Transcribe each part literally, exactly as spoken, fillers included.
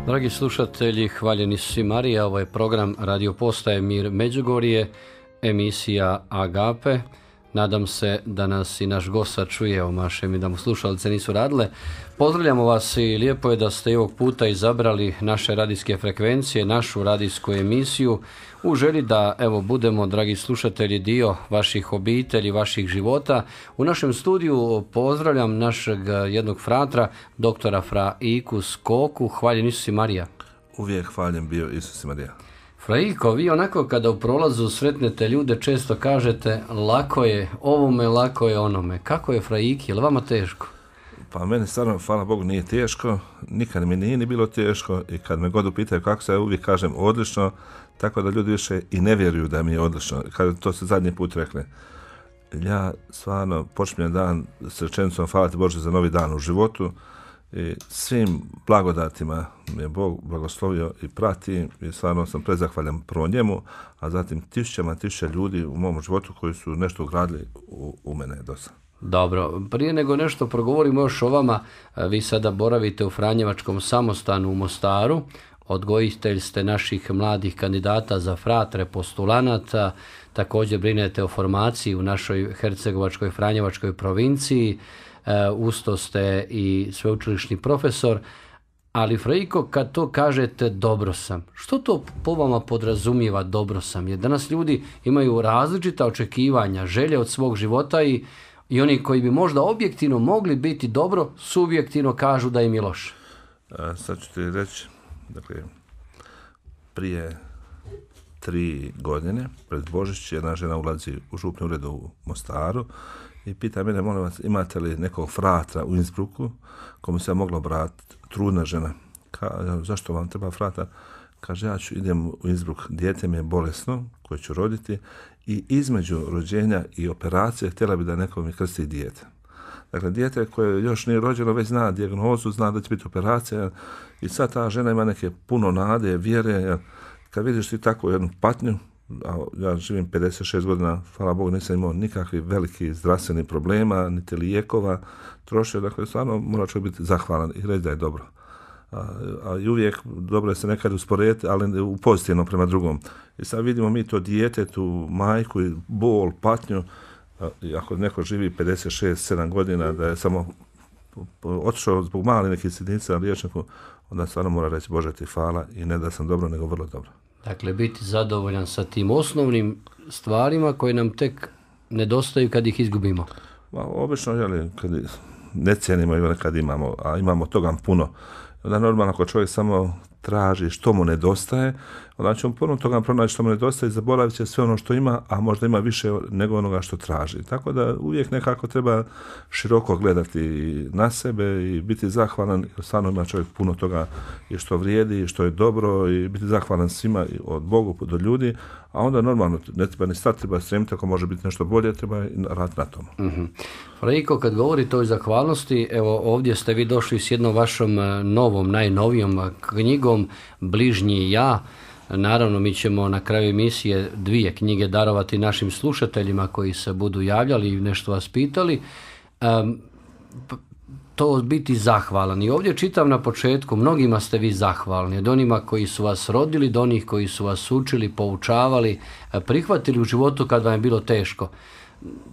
Dragi slušatelji, hvaljeni su svi Marija, ovo je program Radio Postaje Mir Međugorje, emisija Agape. Nadam se da nas i naš gost čuje, omašem i da mu slušalice nisu radile. Pozdravljamo vas i lijepo je da ste i ovog puta izabrali naše radijske frekvencije, našu radijsku emisiju u želji da evo budemo, dragi slušatelji, dio vaših obitelji, vaših života. U našem studiju pozdravljam našeg jednog fratra, doktora Fra Iku Skoku. Hvaljen Isus i Marija. Uvijek hvaljen bio Isus i Marija. Fraiko, vi onako kada u prolazu sretnete ljude često kažete lako je ovome, lako je onome. Kako je Fraiki, je li vama teško? Pa meni stvarno, hvala Bogu, nije teško, nikad mi nije ni bilo teško i kad me god upitaju kako se, ja uvijek kažem odlično, tako da ljudi više i ne vjeruju da mi je odlično. Kada to se zadnji put rekli, ja stvarno počinjem dan s rečenicom hvala ti Bože za novi dan u životu i svim blagodatima mi je Bog blagoslovio i prati i stvarno sam prezahvaljan prvo njemu, a zatim tisućama tisuća ljudi u mom životu koji su nešto ugradili u, u mene do sada. Dobro, prije nego nešto progovorimo još o vama, vi sada boravite u Franjevačkom samostanu u Mostaru, odgojitelj ste naših mladih kandidata za fratre, postulanata, također brinete o formaciji u našoj Hercegovačkoj Franjevačkoj provinciji, usto ste i sveučilišni profesor, ali Fraiko, kad to kažete dobro sam, što to po vama podrazumijeva dobro sam? Jer danas ljudi imaju različita očekivanja, želje od svog života i I oni koji bi možda objektivno mogli biti dobro, subjektivno kažu da im je loše. A, sad ću ti reći, dakle, prije tri godine, pred Božić, jedna žena ulazi u župni ured u Mostaru i pita mene, molim vas, imate li nekog fratra u Innsbrucku komu se moglo obratiti, trudna žena. Ka, zašto vam treba frata? Kaže, ja ću, idem u Innsbruck, dijete mi je bolesno, koje ću roditi, i između rođenja i operacije htjela bi da neko mi krsti dijete. Dakle, dijete koje još nije rođeno, već zna dijagnozu, zna da će biti operacija i sad ta žena ima neke puno nade, vjere. Kad vidiš ti takvu jednu patnju, a ja živim pedeset šest godina, hvala Bogu, nisam imao nikakvih velikih zdravstvenih problema, niti lijekova trošio, dakle, stvarno mora čovjek biti zahvalan i reći da je dobro. A, a i uvijek dobro je se nekad usporediti, ali u pozitivno prema drugom. I sad vidimo mi to dijete, tu majku i bol, patnju, a, i ako neko živi pedeset šest sedam godina, da je samo otišao zbog mali nekih sitnica na liječniku, onda stvarno mora reći Bože ti hvala i ne da sam dobro, nego vrlo dobro. Dakle, biti zadovoljan sa tim osnovnim stvarima koje nam tek nedostaju kad ih izgubimo. Ma, obično, jeli, kad ne cijenimo ili kad imamo, a imamo toga puno, onda normalno ako čovjek samo traži što mu nedostaje, onda će on puno toga pronaći što mu nedostaje i zaboravit će sve ono što ima, a možda ima više nego onoga što traži. Tako da uvijek nekako treba široko gledati na sebe i biti zahvalan, jer stvarno ima čovjek puno toga i što vrijedi, i što je dobro i biti zahvalan svima od Bogu do ljudi, a onda normalno ne treba ni stati, treba stremiti, ako može biti nešto bolje, treba raditi na tomu. Mm-hmm. Fraiko, kad govorite o zahvalnosti, evo ovdje ste vi došli s jednom vašom novom, najnovijom knjigom Bližnji ja. Naravno, mi ćemo na kraju emisije dvije knjige darovati našim slušateljima koji se budu javljali i nešto vas pitali. Um, to biti zahvalan. I ovdje čitam na početku, mnogima ste vi zahvalni, od onima koji su vas rodili, do onih koji su vas učili, poučavali, prihvatili u životu kad vam je bilo teško.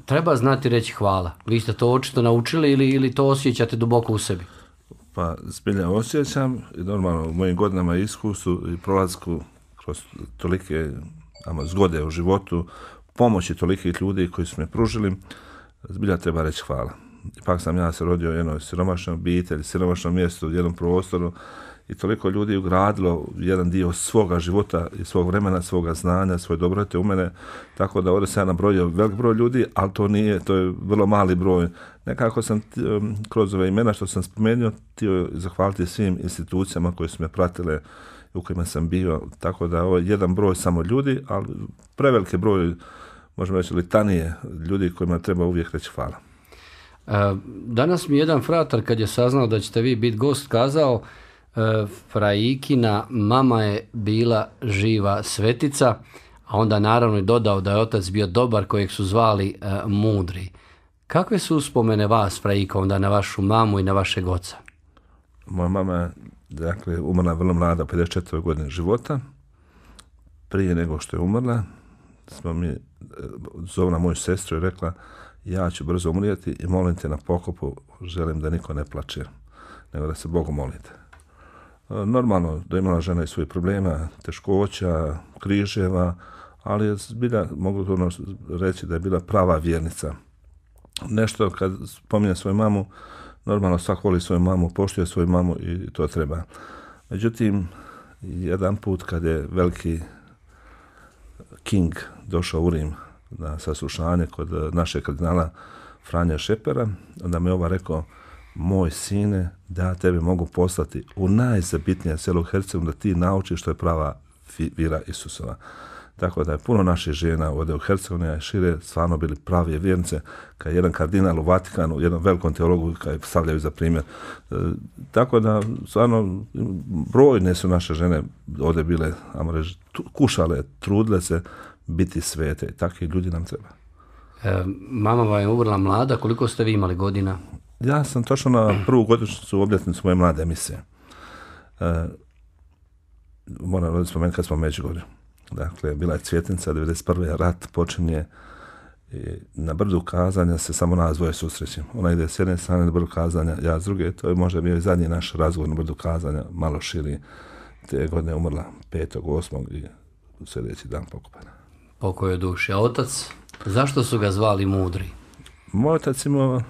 Treba znati reći hvala. Vi ste to očito naučili ili, ili to osjećate duboko u sebi? Pa zbilja osjećam i normalno u mojim godinama iskustvu i prolazku kroz tolike ama, zgode u životu, pomoći tolikih ljudi koji su me pružili, zbilja treba reći hvala. Ipak sam ja se rodio u jednoj siromašnoj obitelji, siromašnom mjestu, u jednom prostoru i toliko ljudi ugradilo jedan dio svoga života i svog vremena, svoga znanja, svoje dobrote u mene, tako da ovdje sam ja nabrojio velik broj ljudi, ali to nije, to je vrlo mali broj. Nekako sam kroz ove imena što sam spomenuo htio zahvaliti svim institucijama koje su me pratile, u kojima sam bio, tako da ovo je jedan broj samo ljudi, ali preveliki broj, možemo reći, litanije ljudi kojima treba uvijek reći hvala. Danas mi jedan fratar, kad je saznao da ćete vi biti gost, kazao Fraikina mama je bila živa svetica, a onda naravno i dodao da je otac bio dobar kojeg su zvali uh, mudri. Kakve su uspomene vas, Fraiko, onda na vašu mamu i na vašeg oca? Moja mama dakle, umrla vrlo mlada, pedeset četiri godine života. Prije nego što je umrla, smo mi, zovna moju sestru i rekla, ja ću brzo umrijeti i molim te na pokopu, želim da niko ne plače, nego da se Bogu molite. Normalno da je imala žena i svojih problema, teškoća, križeva, ali je bila, mogu to reći da je bila prava vjernica. Nešto kad spominje svoju mamu, normalno svak voli svoju mamu, poštuje svoju mamu i to treba. Međutim, jedan put kad je veliki King došao u Rim na saslušanje kod našeg kardinala Franje Šepera, onda mi je ova rekao, moj sine, da ja tebe mogu poslati u najzabitnije selo u Hercegovini da ti naučiš što je prava vjera Isusova. Tako da je puno naših žena ovdje u Hercegovini, a šire stvarno bili pravi vjernice, kad je jedan kardinal u Vatikanu, jednom velikom teologu kad je stavljaju za primjer. E, tako da stvarno brojne su naše žene ovdje bile, ajmo reći, kušale, trudile se biti svete. Takvi ljudi nam treba. E, mama vam je umrla mlada, koliko ste vi imali godina? Ja sam točno na prvu godišnjicu obljetnicu moje mlade emisije. E, moram da spomenuti kad smo u Međugorju. Dakle, bila je Cvjetnica, devedeset prve rat počinje i na brdu Kazanja se samo nas dvoje susrećemo. Ona ide s jedne strane na brdu Kazanja, ja s druge, to je možda bio i zadnji naš razgovor na brdu Kazanja, malo širi. Te godine umrla petog osmog i sljedeći dan pokopana. Pokoj duši. A otac, zašto su ga zvali mudri? Moj otac imao,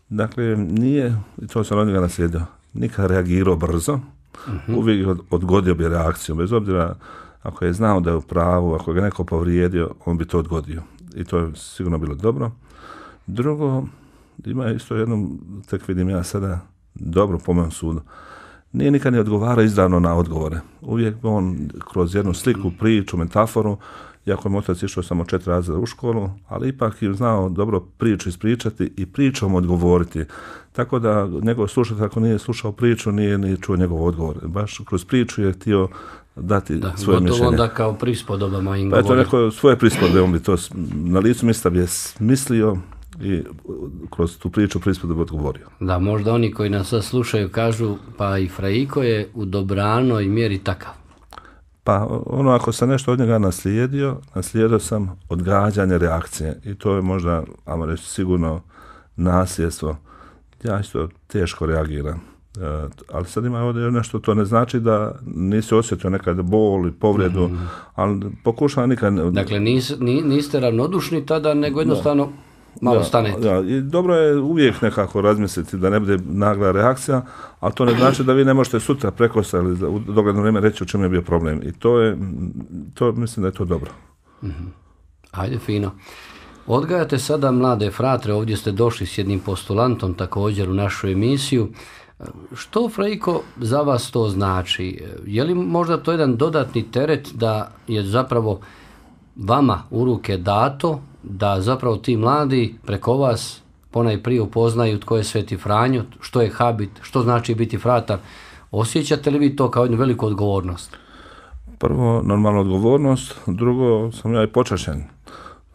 dakle, nije, i to sam od njega naslijedio, nikad reagirao brzo, uh-huh. uvijek odgodio bi reakciju, bez obzira ako je znao da je u pravu, ako ga neko povrijedio, on bi to odgodio. I to je sigurno bilo dobro. Drugo, ima isto jedno, tek vidim ja sada, dobro po mojem sudu. Nije nikad ne odgovara izravno na odgovore. Uvijek on kroz jednu sliku, priču, metaforu, iako je otac išao samo četiri razreda u školu, ali ipak je znao dobro priču ispričati i pričom odgovoriti. Tako da njegov slušatelj, ako nije slušao priču, nije ni čuo njegov odgovor. Baš kroz priču je htio dati da, svoje mišljenje. Da, onda kao prispodobama im pa govori. Pa je to neko svoje prispodobe, on bi to na licu mjesta bi je smislio i kroz tu priču prispodobu odgovorio. Da, možda oni koji nas sad slušaju kažu, pa i Frajko je u dobranoj mjeri takav. Pa ono, ako sam nešto od njega naslijedio, naslijedio sam odgađanje reakcije i to je možda, ajmo reći, sigurno nasljedstvo. Ja isto teško reagiram. E, ali sad ima ovdje nešto, to ne znači da nisi osjetio nekad bol i povredu, mm-hmm. ali pokušavam nikad... Dakle, nis, niste ravnodušni tada, nego jednostavno da. malo da, stanete. Da, i dobro je uvijek nekako razmisliti da ne bude nagla reakcija, ali to ne znači da vi ne možete sutra prekosa ili u dogledno vrijeme reći u čemu je bio problem. I to je, to mislim da je to dobro. Mm-hmm. Ajde, fino. Odgajate sada mlade fratre, ovdje ste došli s jednim postulantom također u našu emisiju. Što, Frajko, za vas to znači? Je li možda to jedan dodatni teret da je zapravo vama u ruke dato, da zapravo ti mladi preko vas ponajprije upoznaju tko je Sveti Franjo, što je habit, što znači biti fratar? Osjećate li vi to kao jednu veliku odgovornost? Prvo, normalna odgovornost, drugo, sam ja i počašen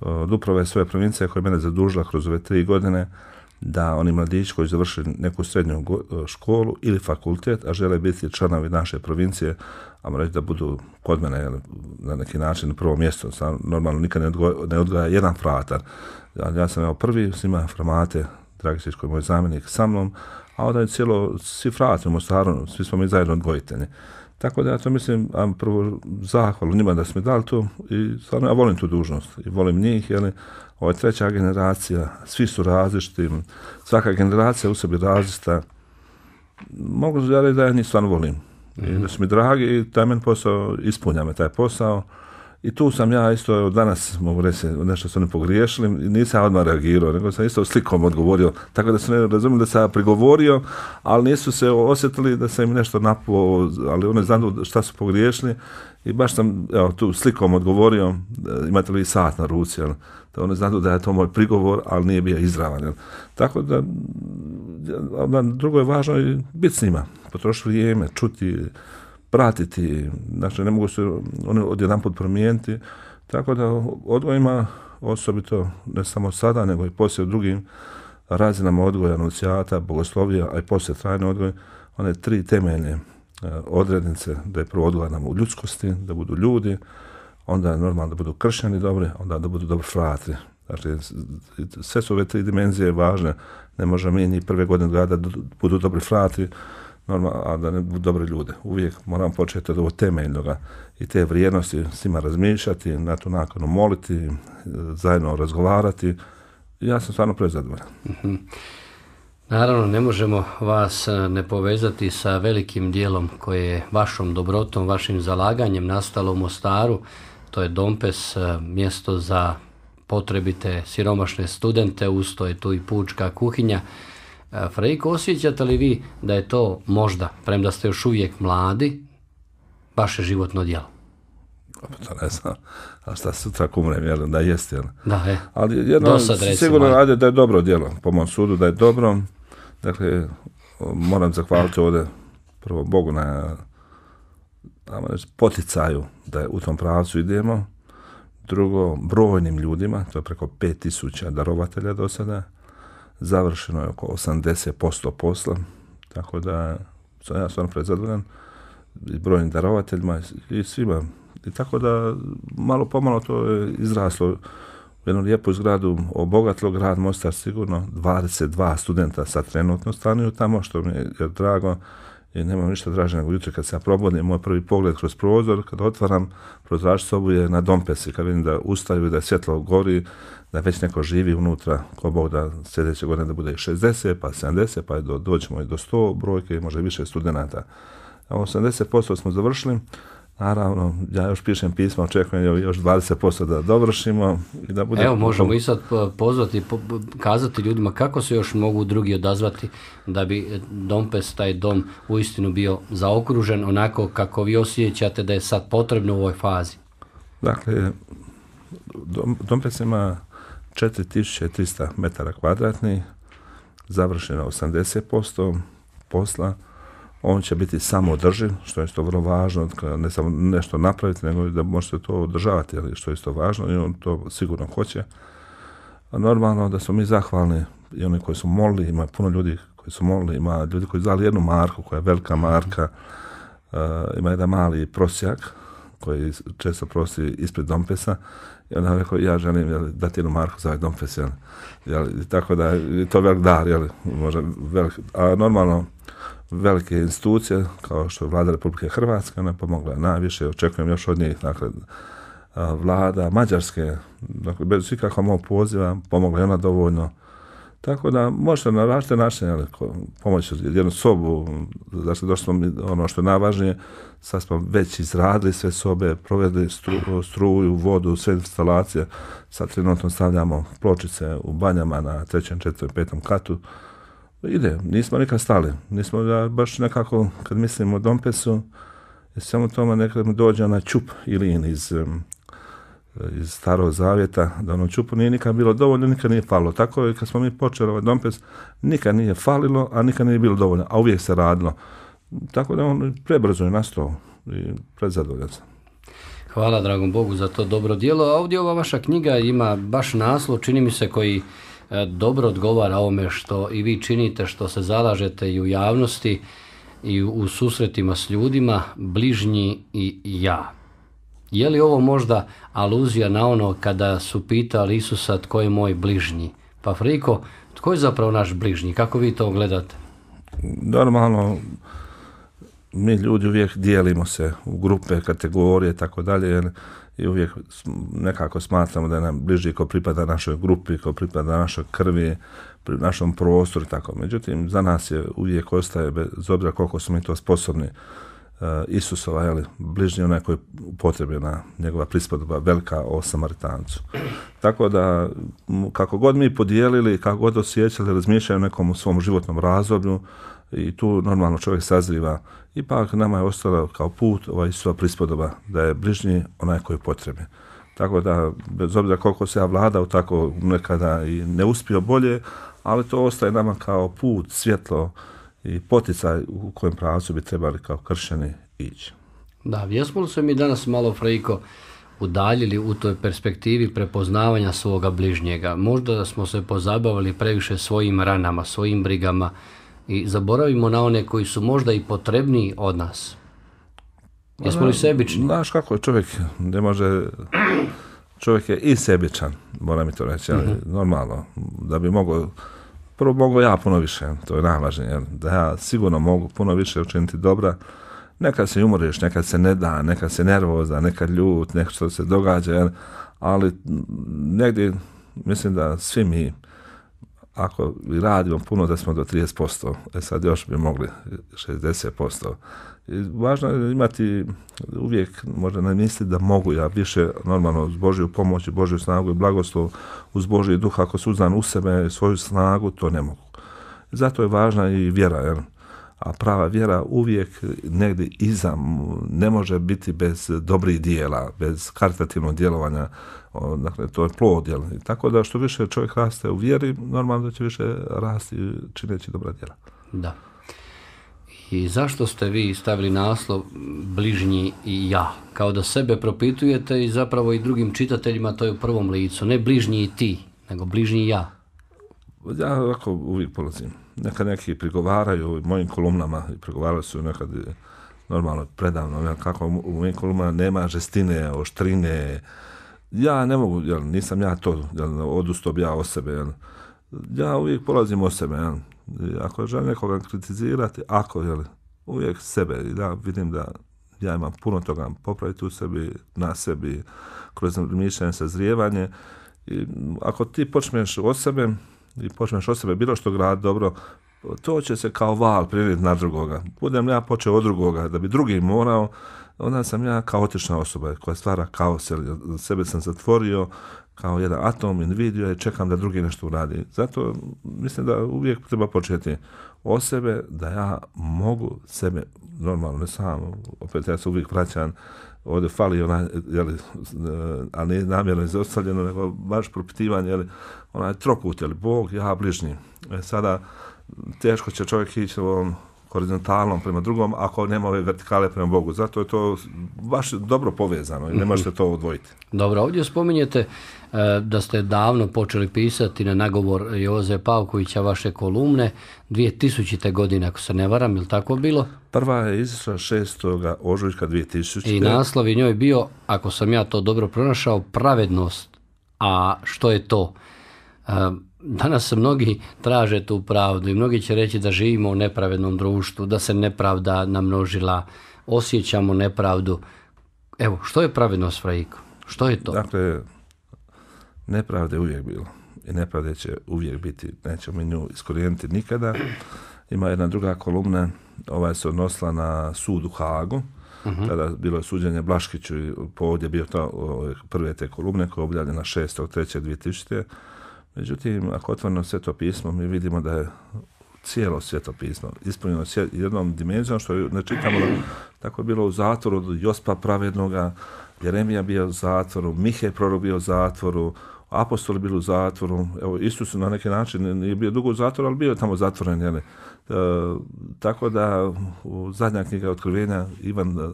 od uprave svoje provincije koja je mene zadužila kroz ove tri godine da oni mladići koji završili neku srednju školu ili fakultet, a žele biti članovi naše provincije, a reći da budu kod mene na neki način na prvo mjesto. Sam normalno nikad ne odgoja, ne odgoja jedan fratar. Ja, ja sam evo prvi, snima Framate Dragišić koji je moj zamjenik sa mnom, a onda je cijelo, svi frati u Mostaru, svi smo mi zajedno odgojitelji. Tako da ja to mislim, a prvo zahvalu njima da smo mi dali to i stvarno ja volim tu dužnost i volim njih, jer ovo je treća generacija, svi su različiti, svaka generacija u sebi različita. Mogu ja reći da ja njih stvarno volim. Mm-hmm. I da su mi dragi i taj men posao, ispunja me taj posao. I tu sam ja isto danas, mogu reći, nešto su oni pogriješili, nisam ja odmah reagirao, nego sam isto slikom odgovorio, tako da su ne razumili da sam ja prigovorio, ali nisu se osjetili da sam im nešto napuo, ali oni znaju šta su pogriješili i baš sam evo, tu slikom odgovorio, imate li sat na ruci, jel? Da oni znaju da je to moj prigovor, ali nije bio izravan. Jel? Tako da, drugo je važno i biti s njima, potrošiti vrijeme, čuti, pratiti, znači ne mogu se oni odjedan put promijeniti, tako da odgoj ima osobito ne samo sada, nego i poslije u drugim razinama odgoja, anunciata, bogoslovija, a i poslije trajni odgoj, one tri temeljne odrednice, da je prvo odgoja nam u ljudskosti, da budu ljudi, onda normalno da budu kršćani dobri, onda da budu dobri fratri. Znači, sve su ove tri dimenzije važne, ne možemo mi ni prve godine odgajati da budu dobri fratri, normalno, a da ne budu dobri ljude. Uvijek moramo početi od ovo temeljnoga i te vrijednosti s njima razmišljati, na tu nakonu moliti, zajedno razgovarati. Ja sam stvarno prezadovoljan. Mm-hmm. Naravno, ne možemo vas ne povezati sa velikim dijelom koje je vašom dobrotom, vašim zalaganjem nastalo u Mostaru. To je Dompes, mjesto za potrebite siromašne studente, usto je tu i pučka kuhinja. Frejko, osjećate li vi da je to možda, premda ste još uvijek mladi, vaše životno djelo? To ne znam, a šta sutra kumrem, jel, da jest, jel? Da, je. Ali jedno, sigurno radi da je dobro djelo, po mom sudu da je dobro. Dakle, moram zahvaliti ovdje prvo Bogu na poticaju da je u tom pravcu idemo. Drugo, brojnim ljudima, to je preko pet tisuća darovatelja do sada. Završeno je oko osamdeset posto posla, tako da sam ja stvarno prezadovoljan i brojnim darovateljima i svima. I tako da malo pomalo to je izraslo u jednu lijepu zgradu, obogatilo grad Mostar sigurno, dvadeset dva studenta sad trenutno stanuju tamo, što mi je drago i nemam ništa draže nego jutro kad se ja probudim, moj prvi pogled kroz prozor, kad otvaram prozrač sobu je na Dompesi, kad vidim da ustaju i da je svjetlo gori, da već neko živi unutra, ko Bog da sljedeće godine da bude šezdeset, pa sedamdeset, pa do, doćemo i do sto brojke, može više studenta. A osamdeset posto smo završili. Naravno, ja još pišem pisma, očekujem još dvadeset posto da dovršimo. I da bude... Evo, možemo i sad pozvati, kazati ljudima kako se još mogu drugi odazvati da bi Dompes, taj dom, uistinu bio zaokružen onako kako vi osjećate da je sad potrebno u ovoj fazi. Dakle, Dompes ima četiri tisuće trista metara kvadratnih, završeno osamdeset posto posla. On će biti samoodrživ, što je isto vrlo važno, ne samo nešto napraviti, nego da možete to održavati, što je isto važno i on to sigurno hoće. A normalno da smo mi zahvalni i oni koji su molili, ima puno ljudi koji su molili, ima ljudi koji su dali jednu marku koja je velika marka, uh, ima jedan mali prosjak koji često prosi ispred Dompesa i onda rekao ja želim jel, dati jednu marku za ovaj Dompes. Jel, jel, tako da je to velik dar, jel, može velik, a normalno velike institucije, kao što je Vlada Republike Hrvatske, ona pomogla najviše, očekujem još od njih, dakle, Vlada Mađarske, dakle, bez ikakva mog poziva, pomogla je ona dovoljno. Tako da možete na različite načine pomoći jednu sobu, znači došli smo ono što je najvažnije, sad smo već izradili sve sobe, provedli stru, struju, vodu, sve instalacije, sad trenutno stavljamo pločice u banjama na trećem, četvrtom, petom katu. Ide, nismo nikad stali, nismo da baš nekako, kad mislimo o Dompesu, samo tome nekad mi dođe na čup Ilin iz, iz Starog Zavjeta, da ono čupu nije nikad bilo dovoljno, nikad nije falilo. Tako je kad smo mi počeli ovaj Dompes, nikad nije falilo, a nikad nije bilo dovoljno, a uvijek se radilo. Tako da on prebrzo je nastao i predzadovoljan sam. Hvala dragom Bogu za to dobro djelo, a ovdje ova vaša knjiga ima baš naslov, čini mi se, koji dobro odgovara ovome što i vi činite, što se zalažete i u javnosti i u susretima s ljudima, bližnji i ja. Je li ovo možda aluzija na ono kada su pitali Isusa tko je moj bližnji? Pa Friko, tko je zapravo naš bližnji? Kako vi to gledate? Normalno, mi ljudi uvijek dijelimo se u grupe, kategorije, tako dalje, i uvijek nekako smatramo da je nam bliži ko pripada našoj grupi, ko pripada našoj krvi, našom prostoru, tako. Međutim, za nas je uvijek ostaje, bez obzira koliko smo mi to sposobni, uh, Isusova, jeli, bližnji onaj koji upotrebljena njegova prispodoba velika o Samaritancu. Tako da, kako god mi podijelili, kako god osjećali, razmišljaju o nekom u svom životnom razdoblju, i tu normalno čovjek sazriva. Ipak nama je ostalo kao put ova Isusova prispodoba, da je bližnji onaj koji je potrebi. Tako da, bez obzira koliko se ja vladao, tako nekada i ne uspio bolje, ali to ostaje nama kao put, svjetlo i poticaj u kojem pravcu bi trebali kao kršćani ići. Da, jesmo li se mi danas malo, Frejko, udaljili u toj perspektivi prepoznavanja svoga bližnjega? Možda smo se pozabavili previše svojim ranama, svojim brigama, i zaboravimo na one koji su možda i potrebniji od nas. Jesmo li sebični? Znaš kako je čovjek, ne može, čovjek je i sebičan, moram mi to reći, ali uh-huh. normalno, da bi mogao, prvo mogu ja puno više, to je najvažnije, da ja sigurno mogu puno više učiniti dobra, nekad se umoriš, nekad se ne da, nekad se nervoza, nekad ljut, nekad što se događa, ali negdje mislim da svi mi, ako radimo puno, da smo do trideset posto, e sad još bi mogli šezdeset posto. I važno je imati uvijek, možda ne misliti da mogu ja više, normalno uz Božju pomoć, Božju snagu i blagoslov, uz Božji duh, ako su uzdan u sebe svoju snagu, to ne mogu. Zato je važna i vjera, jer a prava vjera uvijek negdje iza, ne može biti bez dobrih dijela, bez karitativnog djelovanja, o, dakle, to je plod, jel? Tako da što više čovjek raste u vjeri, normalno da će više rasti čineći dobra djela. Da. I zašto ste vi stavili naslov bližnji i ja? Kao da sebe propitujete i zapravo i drugim čitateljima to je u prvom licu. Ne bližnji i ti, nego bližnji i ja. Ja ovako uvijek polazim. Nekad neki prigovaraju mojim kolumnama, i prigovarali su nekad normalno predavno, kako u mojim kolumnama nema žestine, oštrine. Ja ne mogu, jel, nisam ja to, jel, odustao bi ja o sebe. Jel. Ja uvijek polazim o sebe. Jel. Ako želim nekoga kritizirati, ako, jel, uvijek sebe. Ja vidim da ja imam puno toga popraviti u sebi, na sebi, kroz mišljenje, sazrijevanje. I ako ti počneš o sebe, i počneš od sebe bilo što grad dobro, to će se kao val prenijeti na drugoga. Budem ja počeo od drugoga, da bi drugi morao, onda sam ja kaotična osoba koja stvara kaos, sebe sam zatvorio kao jedan atom, individuo i čekam da drugi nešto uradi. Zato mislim da uvijek treba početi od sebe, da ja mogu sebe, normalno, ne samo, opet ja se uvijek vraćam, ovdje fali onaj, jeli, a ne namjerno izostavljeno, nego baš propitivanje, jeli, onaj trokut, jeli, Bog, ja, bližnji. E, sada, teško će čovjek ići ovom horizontalnom prema drugom, ako nema ove vertikale prema Bogu. Zato je to baš dobro povezano i ne možete to odvojiti. Dobro, ovdje spominjete e, da ste davno počeli pisati na nagovor Joze Pavkovića vaše kolumne, dvije tisućite. godine, ako se ne varam, je li tako bilo? Prva je izašla šestog ožujka dvije tisućite. I naslov je njoj bio, ako sam ja to dobro pronašao, pravednost. A što je to? E, Danas se mnogi traže tu pravdu i mnogi će reći da živimo u nepravednom društvu, da se nepravda namnožila, osjećamo nepravdu. Evo, što je pravednost, Frajko? Što je to? Dakle, nepravda je uvijek bilo i nepravda će uvijek biti. Nećemo mi nju iskorijeniti nikada. Ima jedna druga kolumna, ova se odnosila na sud u Hagu. Uh-huh. Tada bilo je suđenje Blaškiću i povod je bio to, prve te kolumne koje je objavljena šestog trećeg dvije tisućite. Međutim, ako otvorimo Sveto pismo, mi vidimo da je cijelo Sveto pismo ispunjeno jednom dimenzijom, što ne čitamo, tako je bilo u zatvoru od Jospa pravednoga, Jeremija bio u zatvoru, Mihej prorok bio u zatvoru, apostoli bili u zatvoru, evo, Isus na neki način nije bio dugo u zatvoru, ali bio je tamo zatvoren, jel? E, tako da u zadnja knjiga Otkrivenja Ivan e,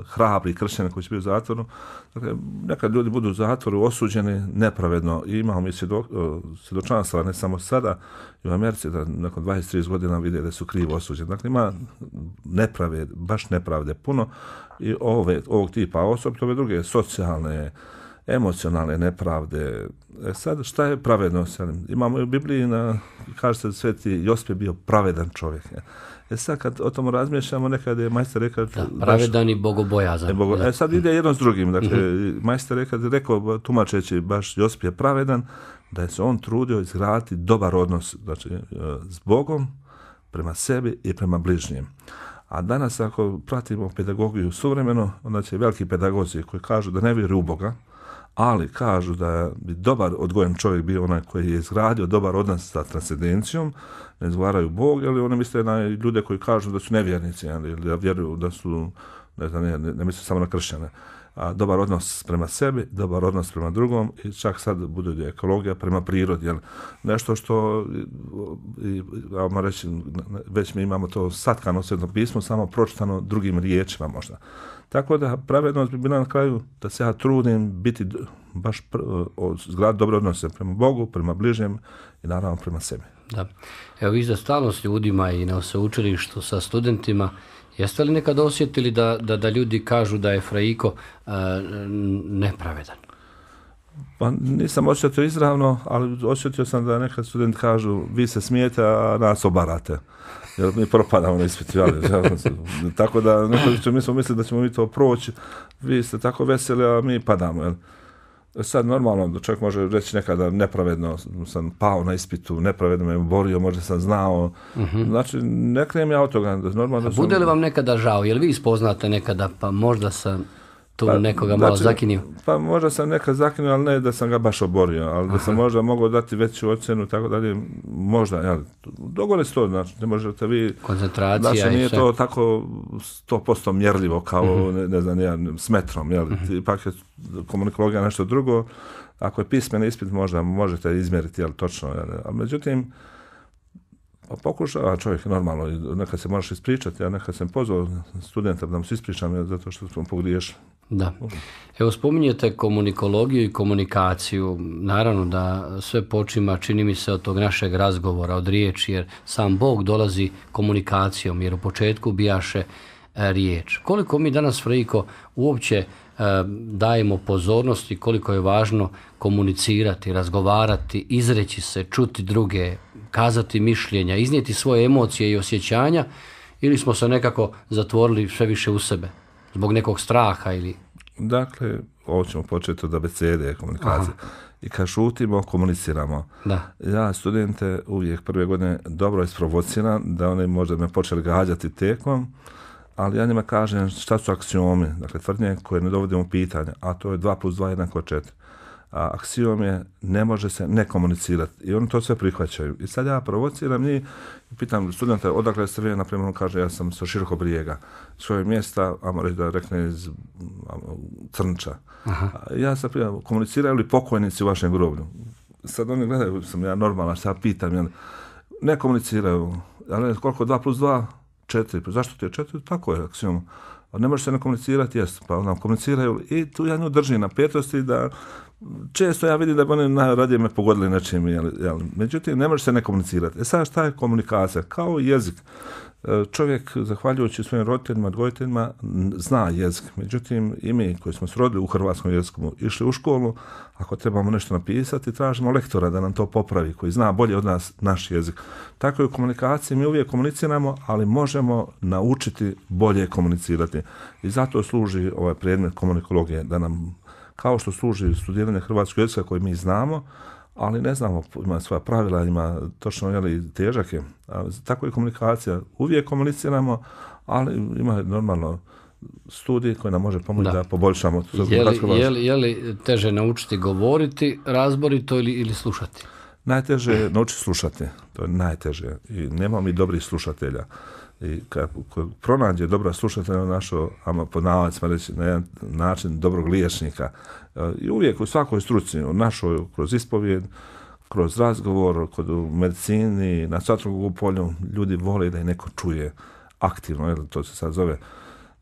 hrabri kršćanin koji će biti u zatvoru, dakle, nekad ljudi budu u zatvoru osuđeni nepravedno i imamo mi svjedok, svjedočanstva, ne samo sada i u Americi, da nakon dvadeset do trideset godina vide da su krivo osuđeni. Dakle, ima nepravde, baš nepravde puno i ove, ovog tipa osobito ove druge socijalne, emocionalne nepravde. E sad, šta je pravednost? Imamo u Bibliji, na, kaže se, sveti Josip je bio pravedan čovjek. E sad, kad o tom razmišljamo, nekad je majstor rekao... Da, pravedan baš, i bogobojazan. E, bogo, e sad ide jedno s drugim. Dakle, mm-hmm. majstor rekao, rekao, tumačeći, baš Josip je pravedan, da je se on trudio izgraditi dobar odnos, znači, s Bogom, prema sebi i prema bližnjem. A danas, ako pratimo pedagogiju suvremeno, onda će veliki pedagozi koji kažu da ne vjeruju u Boga, ali kažu da bi dobar odgojen čovjek bio onaj koji je izgradio dobar odnos sa transcendencijom, ne izgovaraju Bog, ali oni misle na ljude koji kažu da su nevjernici, ili da vjeruju da su, ne znam, ne, ne misle samo na kršćane. A dobar odnos prema sebi, dobar odnos prema drugom i čak sad bude ekologija prema prirodi, jel? Nešto što, i, ja reći, već mi imamo to satkano Sveto pismo, samo pročitano drugim riječima možda. Tako da pravednost bi bila na kraju da se ja trudim biti baš zgrad dobre odnose prema Bogu, prema bližnjem i naravno prema sebi. Da. Evo vi za stalno s ljudima i na sveučilištu sa studentima, jeste li nekad osjetili da, da, da ljudi kažu da je Fraiko uh, nepravedan? Pa nisam osjetio izravno, ali osjetio sam da nekad studenti kažu vi se smijete, a nas obarate. Jer mi propadamo na ispitu. Tako da nekad mi smo mislili da ćemo mi to proći, vi ste tako veseli, a mi padamo. Jel? Sad normalno da čovjek može reći nekada nepravedno sam pao na ispitu, nepravedno me borio, možda sam znao. Uh-huh. Znači, ne krenem ja od toga. Normalno sam... Bude li vam nekada žao? Jel vi ispoznate nekada, pa možda sam tu pa, nekoga malo znači, zakinio? Pa možda sam nekad zakinio, ali ne da sam ga baš oborio, ali da sam Aha. možda mogao dati veću ocjenu, tako dalje, možda, jel, dogode se to, znači, ne možete vi... Koncentracija znači, nije i sve. to tako sto posto mjerljivo kao, uh-huh. ne, ne znam, ja, s metrom, jel, uh-huh. ipak je komunikologija nešto drugo, ako je pismeni ispit, možda možete izmjeriti, jel, točno, jel, ali međutim, pokušava čovjek normalno, nekad se možeš ispričati, ja nekad sam pozvao studenta da mu se ispričam zato što smo pogriješili. Da. Evo spominjete komunikologiju i komunikaciju. Naravno da sve počima, čini mi se, od tog našeg razgovora, od riječi, jer sam Bog dolazi komunikacijom, jer u početku bijaše e, riječ. Koliko mi danas, Fraiko, uopće e, dajemo pozornosti, koliko je važno komunicirati, razgovarati, izreći se, čuti druge, kazati mišljenja, iznijeti svoje emocije i osjećanja, ili smo se nekako zatvorili sve više u sebe zbog nekog straha ili... Dakle, ovo ćemo početi od abecede komunikacije. Aha. I kad šutimo, komuniciramo. Da. Ja studente uvijek prve godine dobro isprovociram da oni možda me počeli gađati tekom, ali ja njima kažem šta su aksiomi, dakle tvrdnje koje ne dovodimo u pitanje, a to je dva plus dva jednako četiri. A aksiom je ne može se ne komunicirati i oni to sve prihvaćaju. I sad ja provociram njih i pitam studenta odakle ste vi, na primjer on kaže ja sam sa Širokog Brijega, svoje mjesta, ajmo reći da rekne iz Crnča. Aha. Ja sam pitam, komuniciraju li pokojnici u vašem groblju? Sad oni gledaju, sam ja normalna, šta pitam, jel? Ne komuniciraju, ali koliko dva plus dva? četiri. Zašto ti je četiri? Tako je aksiom. Ne može se ne komunicirati, jest, pa nam komuniciraju i tu ja nju držim na petosti da često ja vidim da bi oni najradije me pogodili nečim, jel, jel. Međutim, ne može se ne komunicirati. E sad šta je komunikacija? Kao jezik. Čovjek, zahvaljujući svojim roditeljima, odgojiteljima, zna jezik. Međutim, i mi koji smo se rodili u hrvatskom jeziku, išli u školu, ako trebamo nešto napisati, tražimo lektora da nam to popravi, koji zna bolje od nas naš jezik. Tako je u komunikaciji, mi uvijek komuniciramo, ali možemo naučiti bolje komunicirati. I zato služi ovaj predmet komunikologije, da nam, kao što služi studiranje hrvatskog jezika koji mi znamo, ali ne znamo, ima svoja pravila, ima točno, jeli, težak je. Tako je komunikacija. Uvijek komuniciramo, ali ima normalno studij koji nam može pomoći da, da poboljšamo. Je li, je, li, je li teže naučiti govoriti razborito ili, ili slušati? Najteže je naučiti slušati. To je najteže. I nema mi dobrih slušatelja. I kad pronađe dobra slušatelja našo, ama pod navodnicima reći na jedan način dobrog liječnika, i uvijek u svakoj struci, u našoj, kroz ispovijed, kroz razgovor, kod u medicini, na svakom polju, ljudi vole da je neko čuje aktivno, jer to se sad zove.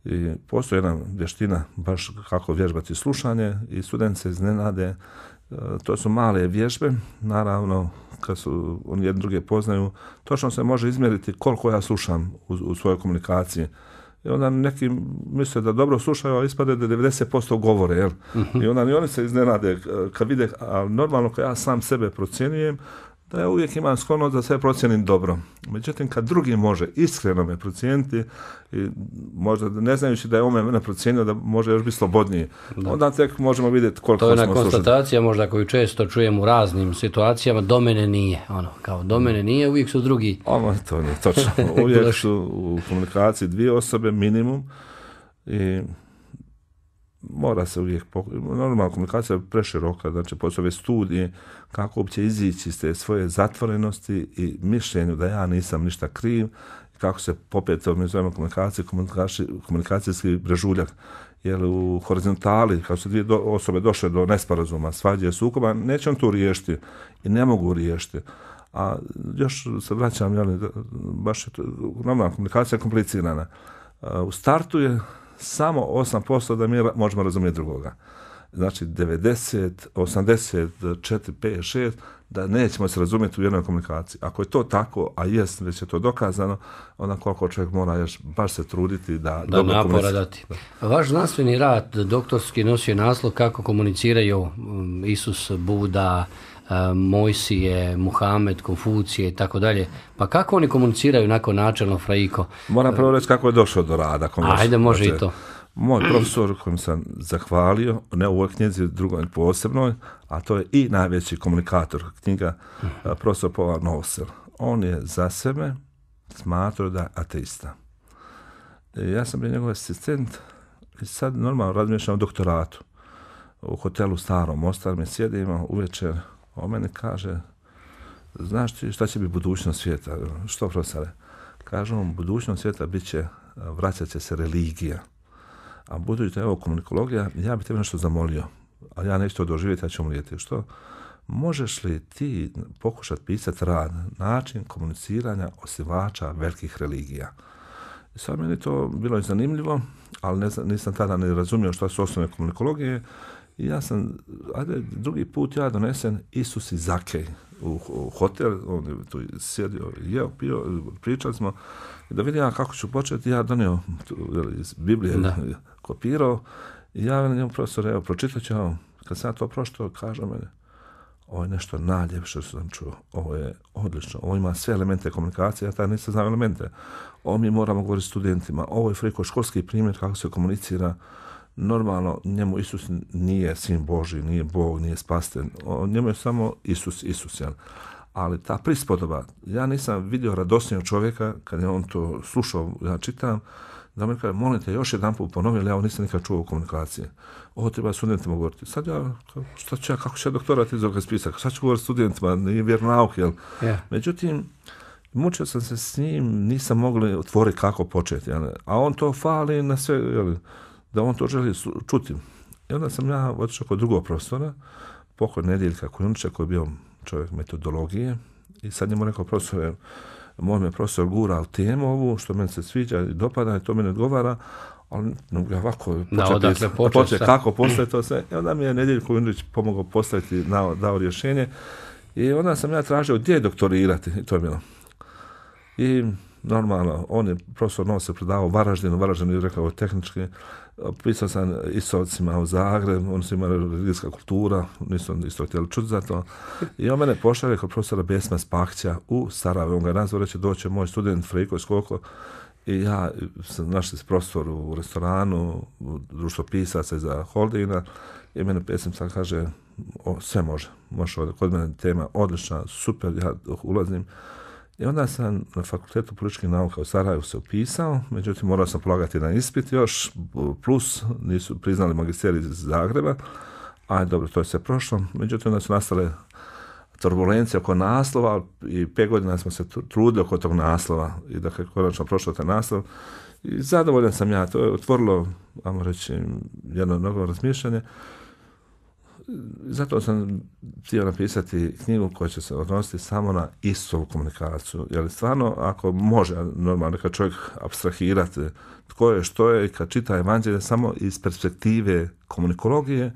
I postoji jedna vještina, baš kako vježbati slušanje, i studenti se iznenade. To su male vježbe, naravno, kad su oni jedni druge poznaju, točno se može izmjeriti koliko ja slušam u, u svojoj komunikaciji. I onda neki misle da dobro slušaju, a ispade da devedeset posto govore, jel? Uh-huh. I onda ni oni se iznenade kad vide, a normalno kad ja sam sebe procjenjujem, da ja uvijek imam sklonost da sve procijenim dobro. Međutim, kad drugi može iskreno me procijeniti, i možda ne znajući da je on mene procijenio, da može još biti slobodniji, da. Onda tek možemo vidjeti koliko smo slušali. To je ona konstatacija možda koju često čujem u raznim situacijama, do mene nije. Ono, kao do mene nije, uvijek su drugi. Ono, to nije točno. Uvijek su u komunikaciji dvije osobe minimum i mora se uvijek, normalna komunikacija je preširoka, znači postoje studije kako uopće izići iz te svoje zatvorenosti i mišljenju da ja nisam ništa kriv, kako se popeti, mi zovemo komunikacije, komunikacijski brežuljak, jer u horizontali, kako su dvije do, osobe došle do nesporazuma, svađe, sukoba, neće on to riješiti i ne mogu riješiti. A još se vraćam, jel, baš je to, normalna komunikacija je komplicirana. U startu je samo osam posto da mi možemo razumjeti drugoga. Znači devedeset, osamdeset četiri, pet, šest da nećemo se razumjeti u jednoj komunikaciji. Ako je to tako, a jest, već je to dokazano, onda koliko čovjek mora još baš se truditi da... Da napora dati. Vaš znanstveni rad, doktorski, nosio naslov kako komuniciraju Isus, Buda, Mojsije, Muhamed, Konfucije i tako dalje. Pa kako oni komuniciraju nakon načelno, Fraiko? Moram prvo reći kako je došao do rada. Ajde, može znači, i to. Moj profesor kojim sam zahvalio, ne u ovoj knjizi, drugoj posebnoj, a to je i najveći komunikator knjiga, profesor Paul Nosel. On je za sebe smatrao da je ateista. I ja sam bio njegov asistent i sad normalno razmišljam o doktoratu. U hotelu Starom Mostar mi sjedimo uvečer, on meni kaže, znaš ti šta će biti budućnost svijeta? Što, profesore? Kažem mu, budućnost svijeta bit će, vraćat će se religija. A budući da je ovo komunikologija, ja bih tebe nešto zamolio, a ja neću to doživjeti, ja ću umrijeti. Što? Možeš li ti pokušati pisati rad, način komuniciranja osnivača velikih religija? I sad meni to bilo je zanimljivo, ali ne, nisam tada ne razumio što su osnovne komunikologije. I ja sam, ajde, drugi put ja donesen Isus i Zakej u, u hotel, on je tu sjedio, jeo, pio, pričali smo, i da vidim ja kako ću početi, ja donio tu, iz Biblije, da. Kopirao, i ja njemu profesor, evo, pročitat ću vam, kad sam to pročitao, kaže mene, ovo je nešto najljepše što sam čuo, ovo je odlično, ovo ima sve elemente komunikacije, ja tada nisam znao elemente, ovo mi moramo govoriti studentima, ovo je Friko školski primjer kako se komunicira. Normalno, njemu Isus nije sin Božji, nije Bog, nije spastelj. Njemu je samo Isus, Isus. Jel? Ali ta prispodoba, ja nisam vidio radosnijeg čovjeka, kad je on to slušao, ja čitam, da mi kaže, molim te, još jedan put ponovi, ali ja ovo nisam nikad čuo u komunikaciji. Ovo treba studentima govoriti. Sad ja, šta ću ja, kako ću ja doktorat iz ovoga spisak? Sad ću govoriti studentima, nije vjernauk, jel? Yeah. Međutim, mučio sam se s njim, nisam mogli otvoriti kako početi, jel? A on to fali na sve, jel? Da on to želi čuti. I onda sam ja otišao kod drugog profesora, pokoj Nedjeljka Kujundžića, koji je bio čovjek metodologije, i sad njemu rekao, profesore, moj me profesor gura u temu ovu, što meni se sviđa i dopada, i to meni odgovara, ali ja ovako početi, početi kako postaviti to sve. I onda mi je Nedjeljko Kujundžić pomogao postaviti, dao, dao rješenje, i onda sam ja tražio gdje doktorirati, i to je bilo. I normalno, on je profesor Nosel predavao Varaždinu, Varaždinu je rekao tehnički, pisao sam istovcima u Zagreb, oni su imali religijska kultura, nisu isto htjeli čuti za to. I on mene pošalje kod profesora Besma Spahća u Sarajevo. On ga je nazvao, reći, doće moj student Friko Skoko, i ja sam našli s profesor u restoranu, u društvo pisaca za Holdina, i mene Besma sad kaže, o, sve može, može ovdje, kod mene tema odlična, super, ja ulazim. I onda sam na Fakultetu političkih nauka u Sarajevu se upisao, međutim morao sam polagati na ispit još, plus nisu priznali magisterij iz Zagreba, a dobro, to je sve prošlo, međutim onda su nastale turbulencije oko naslova i pet godina smo se trudili oko tog naslova i da je konačno prošlo taj naslov i zadovoljan sam ja, to je otvorilo, ajmo reći, jedno novo razmišljanje. Zato sam htio napisati knjigu koja će se odnositi samo na Isusovu komunikaciju. Jer stvarno, ako može normalno kad čovjek apstrahirati tko je, što je, kad čita evanđelje samo iz perspektive komunikologije,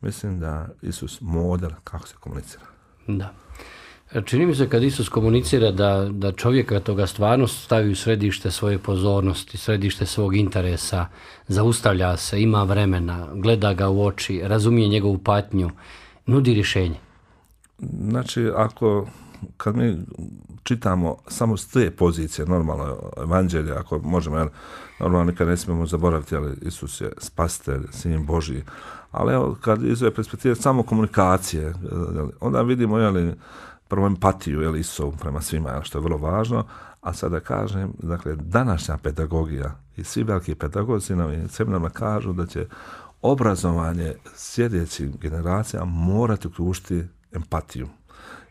mislim da Isus model kako se komunicira. Da. Čini mi se kad Isus komunicira da, da čovjeka toga stvarno stavi u središte svoje pozornosti, središte svog interesa, zaustavlja se, ima vremena, gleda ga u oči, razumije njegovu patnju, nudi rješenje. Znači, ako kad mi čitamo samo s te pozicije, normalno evanđelje, ako možemo, jel, normalno nikad ne smijemo zaboraviti, ali Isus je spasitelj, sin Božji, ali evo, kad iz ove perspektive samo komunikacije, jel, onda vidimo, jel, prvo empatiju, jel, Isusovu prema svima, jel, što je vrlo važno, a sada kažem, dakle, današnja pedagogija i svi veliki pedagozi nam i seminarima kažu da će obrazovanje sljedećim generacijama morati uključiti empatiju.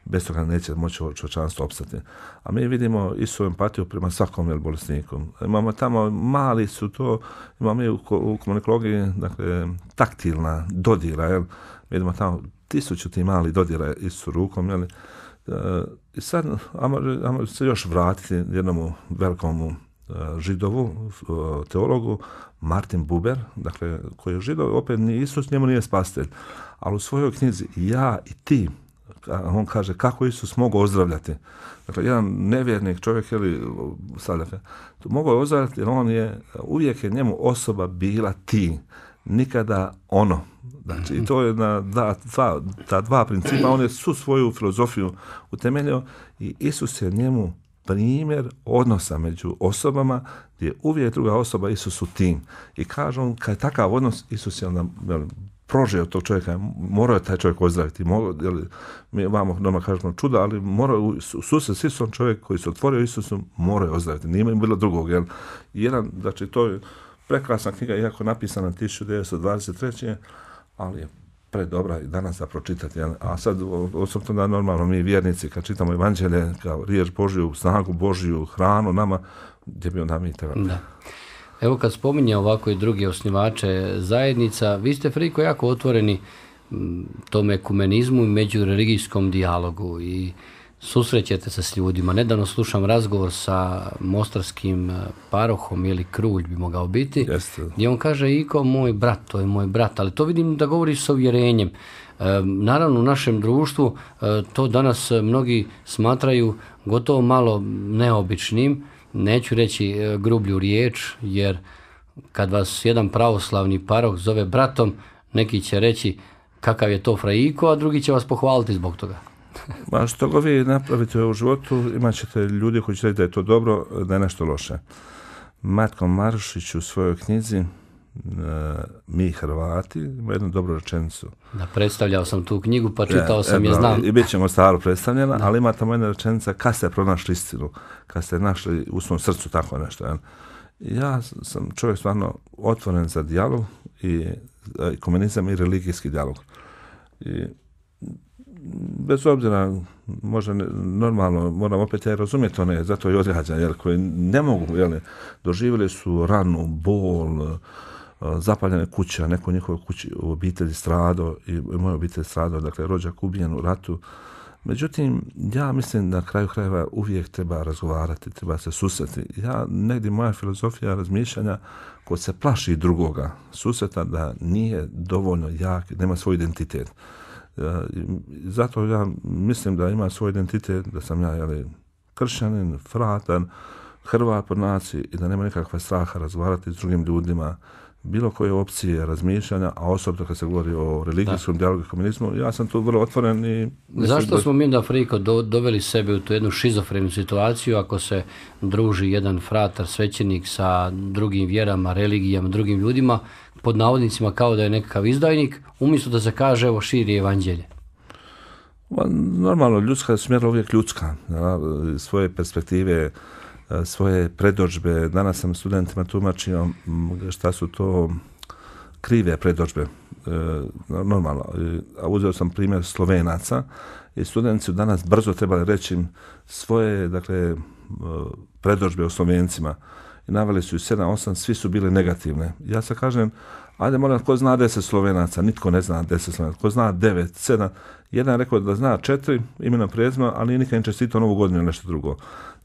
Bez toga neće moći čovječanstvo opstati. A mi vidimo Isusovu empatiju prema svakom, jel, bolesniku. Imamo tamo, mali su to, imamo mi u, u komunikologiji, dakle, taktilna dodira, jel, vidimo tamo tisuću ti mali dodira Isusu rukom, jel. I sad, ajmo se još vratiti jednomu velikomu Židovu, teologu, Martin Buber, dakle, koji je Židov, opet ni Isus njemu nije spasitelj, ali u svojoj knjizi Ja i ti, on kaže kako Isus mogao ozdravljati. Dakle, jedan nevjernik čovjek, ili sad, dakle, mogao je ozdravljati jer on je, uvijek je njemu osoba bila ti, nikada ono. Znači, i to je na da, dva, ta dva principa, on je svu svoju filozofiju utemeljio i Isus je njemu primjer odnosa među osobama gdje je uvijek druga osoba Isusu tim. I kaže on, kad je takav odnos, Isus je onda prožio tog čovjeka, morao je taj čovjek ozdraviti. Morao, jel, mi vamo doma kažemo čuda, ali morao u susret s Isusom čovjek koji se otvorio Isusom, morao je ozdraviti. Nije im bilo drugog. Jel. Jedan, znači, to je prekrasna knjiga, iako napisana tisuću devetsto dvadeset treće ali je predobra i danas da pročitati. Jel. A sad, osobno da normalno mi vjernici, kad čitamo evanđelje, kao riječ Božju, snagu Božju, hranu nama, gdje bi onda mi trebali. Da. Evo kad spominje ovako i drugi osnivače zajednica, vi ste, Friko, jako otvoreni tom ekumenizmu i međureligijskom dijalogu i susrećete se s ljudima. Nedavno slušam razgovor sa mostarskim parohom, ili Krulj bi mogao biti, Jeste. gdje on kaže, Iko, moj brat, to je moj brat, ali to vidim da govori sa uvjerenjem. E, naravno, u našem društvu e, to danas mnogi smatraju gotovo malo neobičnim, neću reći e, grublju riječ, jer kad vas jedan pravoslavni paroh zove bratom, neki će reći kakav je to Frajiko, a drugi će vas pohvaliti zbog toga. Ma što go vi napravite u životu, imat ćete ljudi koji će reći da je to dobro, da je nešto loše. Matko Marušić u svojoj knjizi Mi Hrvati ima jednu dobru rečenicu. Da, predstavljao sam tu knjigu, pa čitao sam je, znam. I bit ćemo staro predstavljena, ali ima tamo jedna rečenica, kad ste pronašli istinu, kad ste našli u svom srcu tako nešto. Ja, ja sam čovjek stvarno otvoren za dijalog i ekumenizam i religijski dijalog. I bez obzira, možda ne, normalno, moram opet ja razumjeti one, zato i odgađam, jer koji ne mogu, jel, doživjeli su ranu, bol, zapaljene kuće, neko u njihovoj kući u obitelji stradao i moja obitelj stradao, dakle rođak ubijen u ratu. Međutim, ja mislim da na kraju krajeva uvijek treba razgovarati, treba se susreti. Ja, negdje moja filozofija razmišljanja, ko se plaši drugoga susreta, da nije dovoljno jak, nema svoj identitet. Zato ja mislim da ima svoj identitet, da sam ja, jeli, kršćanin, fratan, Hrvat po naciji i da nema nikakva straha razgovarati s drugim ljudima, bilo koje opcije razmišljanja, a osobno kad se govori o religijskom dijalogu i komunizmu, ja sam tu vrlo otvoren i... Zašto da... smo mi da, Friko, do, doveli sebe u tu jednu šizofrenu situaciju ako se druži jedan fratar, svećenik sa drugim vjerama, religijama, drugim ljudima, pod navodnicima kao da je nekakav izdajnik, umjesto da se kaže, evo, širi evanđelje? Normalno, ljudska smjera uvijek ljudska, ja, svoje perspektive, svoje predodžbe. Danas sam studentima tumačio šta su to krive predodžbe. E, normalno. A uzeo sam primjer Slovenaca i studenti su danas brzo trebali reći svoje, dakle, predodžbe o Slovencima. I naveli su i sedam, osam, svi su bili negativne. Ja se kažem, ajde moram, ko zna deset Slovenaca, nitko ne zna deset Slovenaca, ko zna devet, sedam, jedan je rekao da zna četiri, imena prezima, ali nikad ne čestitao novu godinu ili nešto drugo.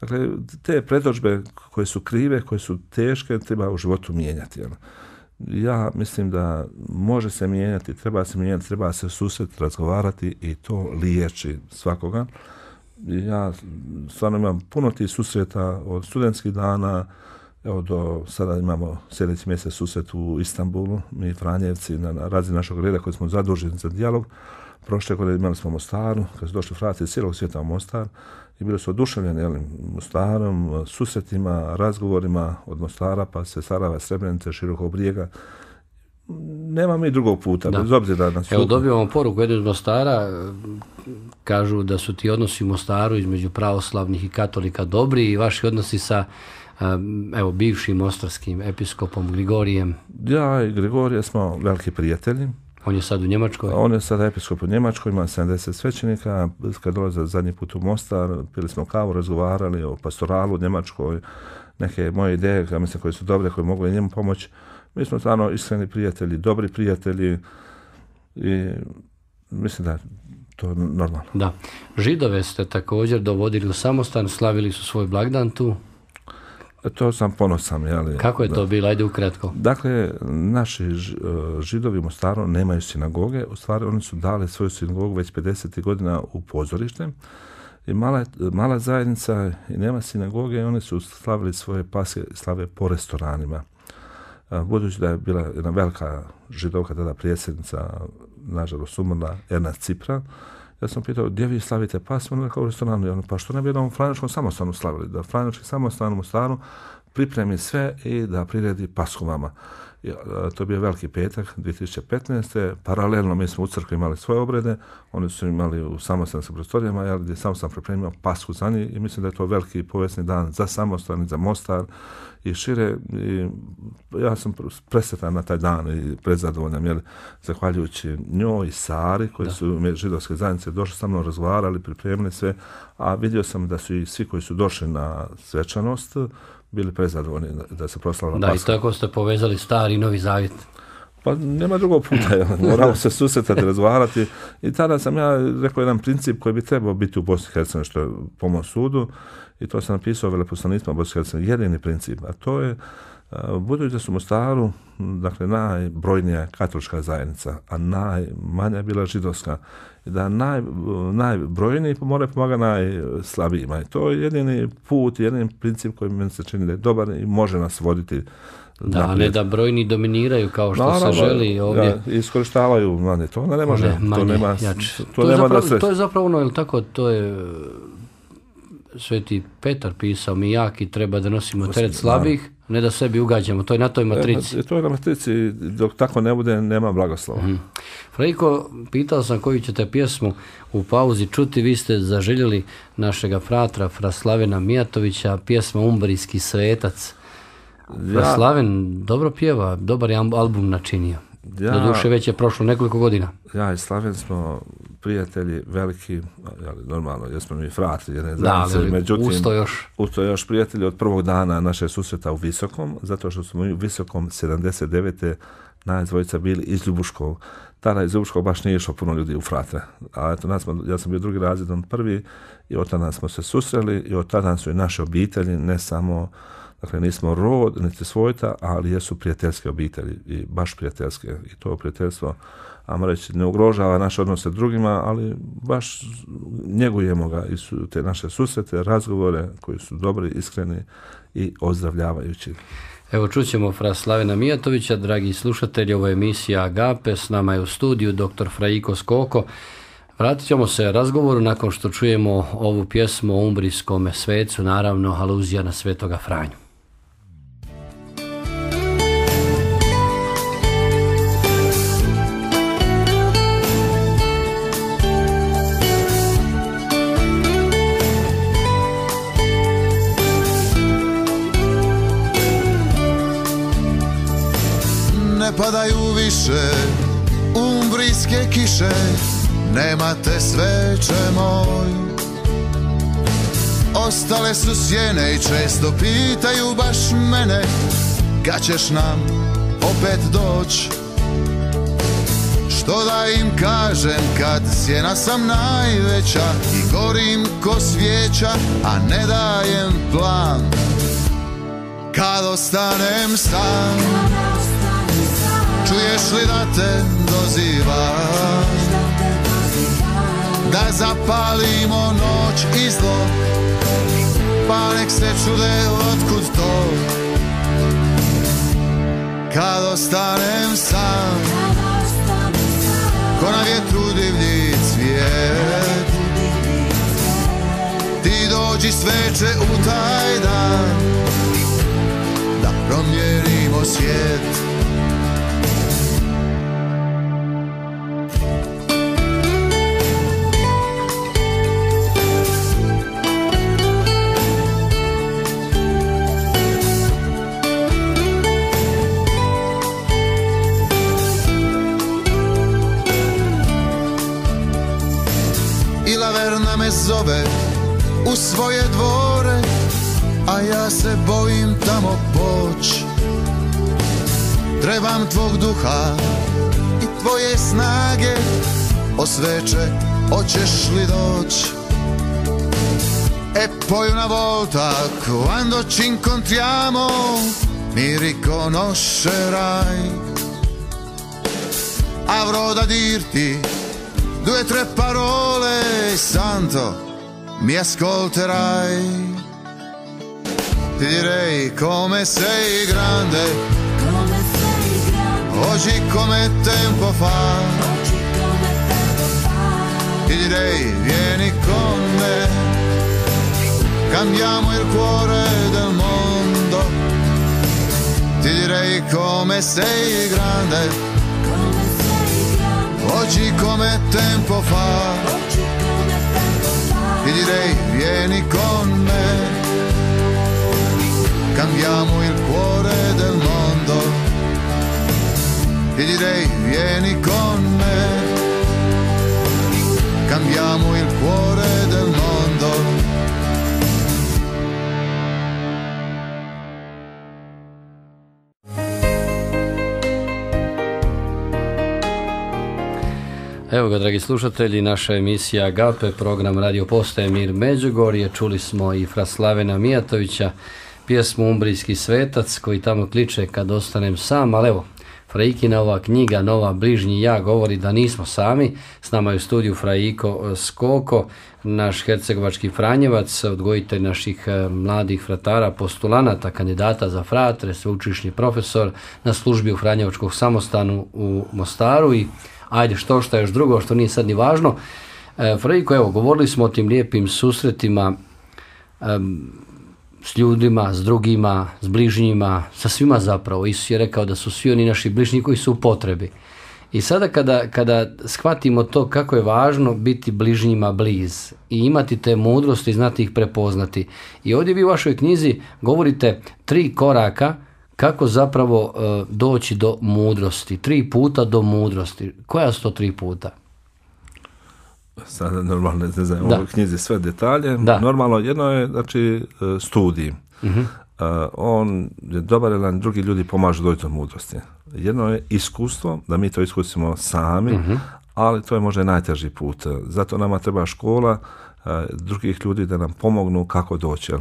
Dakle, te predodžbe koje su krive, koje su teške, treba u životu mijenjati. Jel? Ja mislim da može se mijenjati, treba se mijenjati, treba se susreti, razgovarati i to liječi svakoga. Ja stvarno imam puno tih susreta od studentskih dana, evo do sada imamo sljedeći mjesec susret u Istanbulu, mi Franjevci na, na razini našeg reda koji smo zaduženi za dijalog. Prošle godine imali smo Mostaru, kad su došli frati iz cijelog svijeta u Mostar i bili su oduševljeni, jel, Mostarom, susretima, razgovorima od Mostara pa se Sarajeva, Srebrenice, Širokog Brijega. Nema mi drugog puta, da. Bez obzira na Evo, dobivamo poruku jednu iz Mostara, kažu da su ti odnosi u Mostaru između pravoslavnih i katolika dobri i vaši odnosi sa, evo, bivšim mostarskim episkopom Grigorijem. Ja i Grigorije smo veliki prijatelji. On je sad u Njemačkoj? On je sad episkop u Njemačkoj, ima sedamdeset svećenika. Kad dolaze zadnji put u Mostar, pili smo kavu, razgovarali o pastoralu u Njemačkoj, neke moje ideje, ja mislim, koje su dobre, koje mogu i njemu pomoći. Mi smo stvarno iskreni prijatelji, dobri prijatelji i mislim da je to normalno. Da. Židove ste također dovodili u samostan, slavili su svoj blagdan tu. To sam ponosan. Jeli, Kako je da. to bilo? Ajde ukratko. Dakle, naši Židovi u Mostaru nemaju sinagoge. U stvari, oni su dali svoju sinagogu već pedesetih godina u pozorište. I mala, mala zajednica i nema sinagoge i oni su slavili svoje paske slave po restoranima. Budući da je bila jedna velika židovka, tada predsjednica, nažalost umrla, Erna Cipra, ja sam pitao, gdje vi slavite Pasku? Ona rekao u restoranu. Ja, pa što ne bi jednom Franjevačkom samostanu slavili? Da Franjevački samostan u Mostaru pripremi sve i da priredi Pasku vama. To je bio veliki petak dvije tisuće petnaeste. Paralelno mi smo u crkvi imali svoje obrede, oni su imali u samostanskim prostorijama, ja gdje samostan pripremio Pasku za njih i mislim da je to veliki povijesni dan za samostan i za Mostar i šire. I ja sam presretan na taj dan i prezadovoljan, jer zahvaljujući njoj i Sari, koji da. su židovske zajednice došli sa mnom, razgovarali, pripremili sve, a vidio sam da su i svi koji su došli na svečanost bili prezadovoljni da se proslavila Da, Paska. i tako ste povezali Stari i Novi Zavjet. Pa nema drugog puta, moramo se susretati, razgovarati. I tada sam ja rekao jedan princip koji bi trebao biti u Bosni i Hercegovini, što je po mom sudu, i to sam napisao veleposlanicima Bosni i Hercegovini, jedini princip, a to je, budući da su u Mostaru, dakle, najbrojnija katolička zajednica, a najmanja je bila židovska, da naj, najbrojniji moraju pomagati najslabijima. I to je jedini put, jedini princip koji meni se čini da je dobar i može nas voditi. Da, naprijed. ne da brojni dominiraju kao što Naravno, se želi ovdje. Ja, iskorištavaju manje, to onda ne može. Ne, manje, to nema, jače. to To, je nema zapravo, da se... to je zapravo ono, je tako, to je Sveti Petar pisao, mi jaki treba da nosimo teret slabih, ne da sebi ugađamo, to je na toj matrici. E, to je na matrici, dok tako ne bude, nema blagoslova. Mm. Frajko, pitao sam koju ćete pjesmu u pauzi čuti, vi ste zaželjeli našega fratra, fra Slavena Mijatovića, pjesma Umbrijski svetac. Ja, fra Slaven dobro pjeva, dobar je album načinio. Ja, doduše već je prošlo nekoliko godina. Ja i Slaven smo prijatelji veliki, ali normalno, jesmo mi frati jedne zajednice, da, međutim, usto još. usto još prijatelji od prvog dana naše susreta u Visokom, zato što smo mi u Visokom sedamdeset devete nas dvojica bili iz Ljubuškog. Tada iz Ljubuškog baš nije išlo puno ljudi u fratre. A eto, nas smo, ja sam bio drugi razred, on prvi, i od tada smo se susreli i od tada su i naše obitelji, ne samo, dakle, nismo rod, niti svojta, ali jesu prijateljske obitelji i baš prijateljske. I to prijateljstvo, ajmo reći, ne ugrožava naše odnose drugima, ali baš njegujemo ga i su te naše susrete, razgovore koji su dobri, iskreni i ozdravljavajući. Evo, čućemo fra Slavena Mijatovića, dragi slušatelji, ovo je emisija Agape, s nama je u studiju doktor Frajko Skoko. Vratit ćemo se razgovoru nakon što čujemo ovu pjesmu o umbrijskom svecu, naravno aluzija na Svetoga Franju. Ne padaju više umbrijske kiše, nemate sveče moj. Ostale su sjene i često pitaju baš mene, kad ćeš nam opet doć. Što da im kažem kad sjena sam najveća i gorim ko svijeća, a ne dajem plan. Kad ostanem sam, čuješ li da te dozivam, da zapalimo noć i zlo, pa nek se čude otkud to. Kad ostanem sam, ko na vjetru divlji cvijet, ti dođi sveče u taj dan, da promijenimo svijet. Me zove u svoje dvore, a ja se bojim tamo poć. Trebam tvog duha i tvoje snage, o sveče, hoćeš li doć? E poi una volta quando ci incontriamo mi riconoscerai. Avrò da dirti due o tre parole, santo, mi ascolterai. Ti direi come sei grande, come sei grande, oggi come tempo fa. oggi come tempo fa. Ti direi vieni con me, cambiamo il cuore del mondo. Ti direi come sei grande, Come sei grande, oggi come tempo fa. oggi come tempo fa. Ti direi vieni con me, cambiamo il cuore del mondo. Ti direi vieni con me, cambiamo il cuore del mondo. Evo ga, dragi slušatelji, naša emisija Agape, program Radio Postaje Mir Međugorje. Čuli smo i fra Slavena Mijatovića, pjesmu Umbrijski svetac, koji tamo kliče kad ostanem sam, ali evo, Fraikina ova knjiga Nova bližnji ja govori da nismo sami. S nama je u studiju Fraiko Skoko, naš hercegovački Franjevac, odgojitelj naših mladih fratara, postulanata, kandidata za fratre, sveučilišni profesor na službi u Franjevačkog samostanu u Mostaru i ajde što šta još drugo što nije sad ni važno. E, Fraiko, evo, govorili smo o tim lijepim susretima em, s ljudima, s drugima, s bližnjima, sa svima zapravo. Isus je rekao da su svi oni naši bližnji koji su u potrebi. I sada kada, kada shvatimo to kako je važno biti bližnjima bliz i imati te mudrosti i znati ih prepoznati. I ovdje vi u vašoj knjizi govorite tri koraka kako zapravo uh, doći do mudrosti. Tri puta do mudrosti. Koja su to tri puta? Sada normalno ne znam Da. u knjizi sve detalje. Da. Normalno jedno je znači studij. Mhm. Uh, on je dobar jer drugi ljudi pomažu doći do mudrosti. Jedno je iskustvo, da mi to iskusimo sami, Mhm. ali to je možda najteži put. Zato nama treba škola uh, drugih ljudi da nam pomognu kako doći. jel?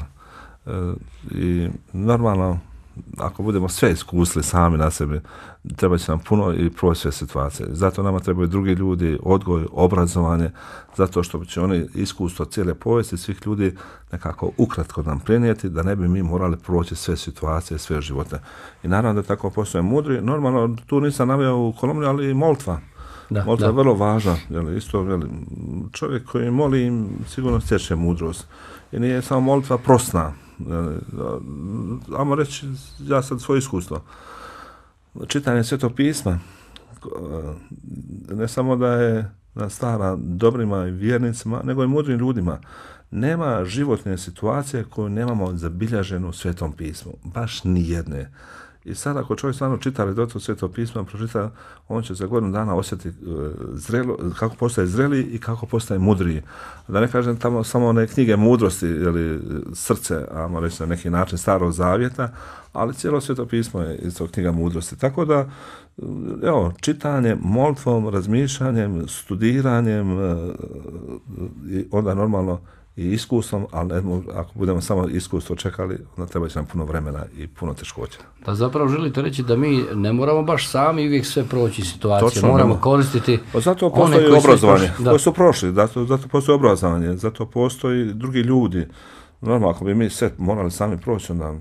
Uh, I normalno ako budemo sve iskusili sami na sebi, treba će nam puno i proći sve situacije. Zato nama trebaju drugi ljudi, odgoj, obrazovanje, zato što će oni iskustvo cijele povijesti svih ljudi nekako ukratko nam prenijeti, da ne bi mi morali proći sve situacije, sve živote. I naravno da tako postoje mudri. Normalno, tu nisam naveo u kolumni, ali i molitva. Da, Molitva da. je vrlo važna. Jel, isto, jel, čovjek koji moli sigurno stječe mudrost. I nije samo molitva prosna. Ajmo reći, ja sad svoje iskustvo. Čitanje Svetog pisma, ne samo da je nas stara dobrima i vjernicima, nego i mudrim ljudima. Nema životne situacije koju nemamo zabilježenu u Svetom pismu. Baš ni jedne. I sad ako čovjek stvarno čita redovito Sveto pismo, pročita, on će za godinu dana osjetiti zrelo, kako postaje zreli i kako postaje mudriji. Da ne kažem tamo samo one knjige mudrosti, ili srce, ajmo reći na neki način starog zavjeta, ali cijelo Sveto pismo je isto knjiga mudrosti. Tako da, evo, čitanjem, molitvom, razmišljanjem, studiranjem, i onda normalno i iskustvom, ali ne, ako budemo samo iskustvo čekali, onda treba će nam puno vremena i puno teškoća. Da zapravo želite reći da mi ne moramo baš sami uvijek sve proći situacije, Točno, moramo nema. koristiti Pa zato one postoji koji su obrazovanje, prošli. Da. koji su prošli, zato, zato postoji obrazovanje, zato postoji drugi ljudi. Normalno, ako bi mi sve morali sami proći, onda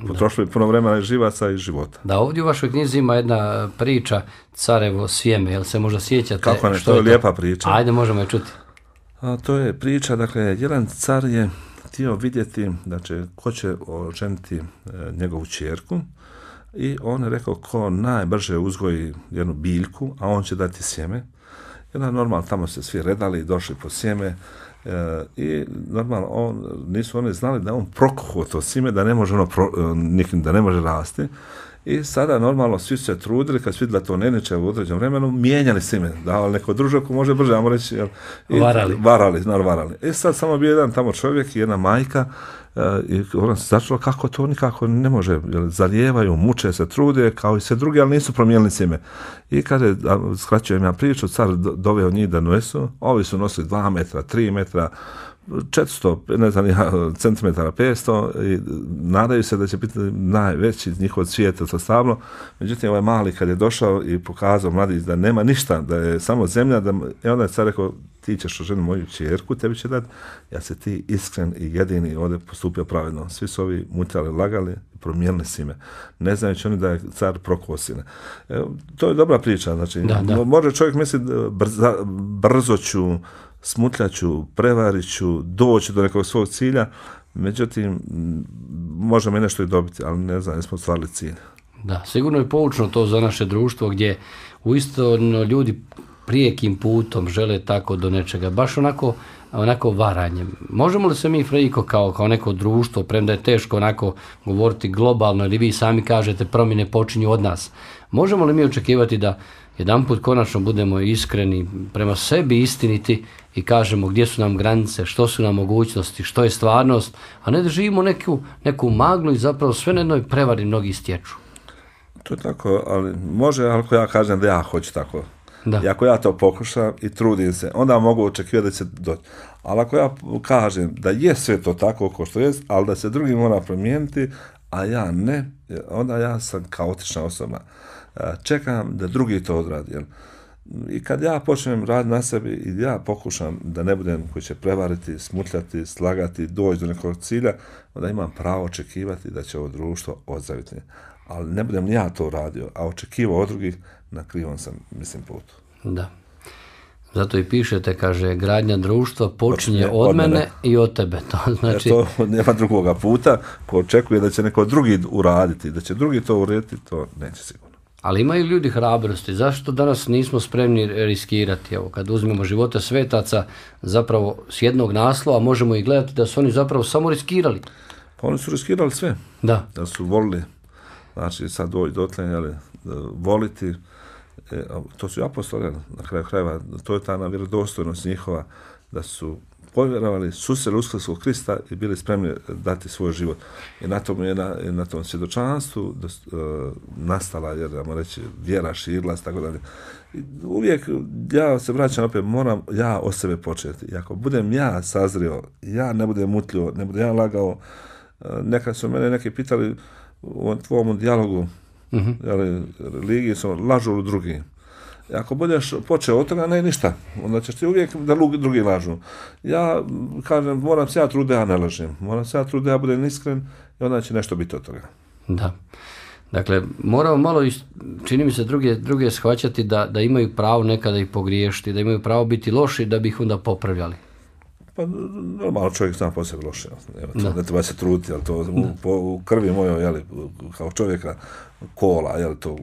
potrošili puno vremena i živaca i života. Da, ovdje u vašoj knjizi ima jedna priča Carevo sjeme, jel se možda sjećate? Kako ne, što to je lijepa priča. Ajde, možemo je čuti. A, to je priča, dakle, jedan car je htio vidjeti, znači, ko će oženiti e, njegovu ćerku i on je rekao ko najbrže uzgoji jednu biljku, a on će dati sjeme. I onda normalno tamo se svi redali i došli po sjeme e, i normalno on, nisu oni znali da on prokuhao to sjeme, da ne može ono pro, nikim, da ne može rasti. I sada normalno svi su se trudili, kad su vidjeli da to ne neće u određenom vremenu, mijenjali sjeme, davali neko družak ko može brže, ajmo reći, jel, i, Varali. varali, naravno varali. I sad samo bio jedan tamo čovjek i jedna majka, uh, i ona se začula kako to nikako ne može, jel, zalijevaju, muče se, trude, kao i sve drugi, ali nisu promijenili sjeme. I kada je, skraćujem ja priču, car do, doveo njih da nosu, ovi su nosili dva metra, tri metra, četiristo, ne znam, centimetara, petsto, i nadaju se da će biti najveći njihov cvijet od stablo. Međutim, ovaj mali kad je došao i pokazao mladić da nema ništa, da je samo zemlja, da, i onda je car rekao, ti ćeš oženi moju ćerku, tebi će dati, ja se ti iskren i jedini ovdje postupio pravedno. Svi su ovi mutali, lagali, promijenili si me. Ne znajući oni da je car prokao sine. E, to je dobra priča, znači, da, da. Može čovjek misliti brza, brzo ću, smutljaću, prevariću, doći do nekog svog cilja, međutim, možemo i nešto i dobiti, ali ne znam, nismo ostvarili cilj. Da, sigurno je poučno to za naše društvo gdje uistinu ljudi prijekim putom žele tako do nečega, baš onako, onako varanjem. Možemo li se mi, Frejko, kao, kao neko društvo, premda je teško onako govoriti globalno, ili vi sami kažete promjene počinju od nas, možemo li mi očekivati da jedanput konačno budemo iskreni prema sebi, istiniti i kažemo gdje su nam granice, što su nam mogućnosti, što je stvarnost, a ne da živimo neku, neku maglu i zapravo sve na jednoj prevari mnogi stječu. To je tako, ali može ako ja kažem da ja hoću tako. Da. I ako ja to pokušam i trudim se, onda mogu očekivati da će doći. Ali ako ja kažem da je sve to tako kao što jest, ali da se drugi mora promijeniti, a ja ne, onda ja sam kaotična osoba. Čekam da drugi to odradi. I kad ja počnem raditi na sebi i ja pokušam da ne budem koji će prevariti, smutljati, slagati, doći do nekog cilja, onda imam pravo očekivati da će ovo društvo ozdraviti. Ali ne budem ja to radio, a očekivao od drugih, na krivom sam, mislim, putu. Da. Zato i pišete, kaže, gradnja društva počinje od, od mene, mene i od tebe. To znači... Jer to nema drugoga puta, ko očekuje da će neko drugi uraditi, da će drugi to urediti, to neće sigurno. Ali imaju ljudi hrabrosti. Zašto danas nismo spremni riskirati? Evo, kad uzmemo živote svetaca, zapravo s jednog naslova možemo i gledati da su oni zapravo samo riskirali. Pa oni su riskirali sve. Da. Da su volili. Znači, sad doći dotle, jeli, voliti. E, to su apostoli, na kraju krajeva, to je ta vjerodostojnost njihova, da su povjerovali, susreli uskrskog Krista i bili spremni dati svoj život. I na tom, je na, na tom svjedočanstvu da, uh, nastala, jer da reći, vjera, širila, tako dalje. Uvijek, ja se vraćam opet, moram ja o sebe početi. I ako budem ja sazrio, ja ne budem mutljivo, ne budem ja lagao, uh, nekad su mene neki pitali u tvom dijalogu, mm-hmm. jeli, religiji su lažu u drugi. Ako budeš počeo od toga, ne ništa. Onda ćeš ti uvijek da drugi lažu. Ja kažem, moram se ja truditi, ja ne lažem. Moram se ja truditi, ja budem iskren i onda će nešto biti od toga. Da. Dakle, moramo malo, čini mi se, druge, druge shvaćati da, da imaju pravo nekada i pogriješiti, da imaju pravo biti loši da bi ih onda popravljali. Pa normalno čovjek zna po sebi loše. Ne treba se truditi, ali to u, po, u krvi mojoj, jeli, kao čovjeka kola, jeli, to...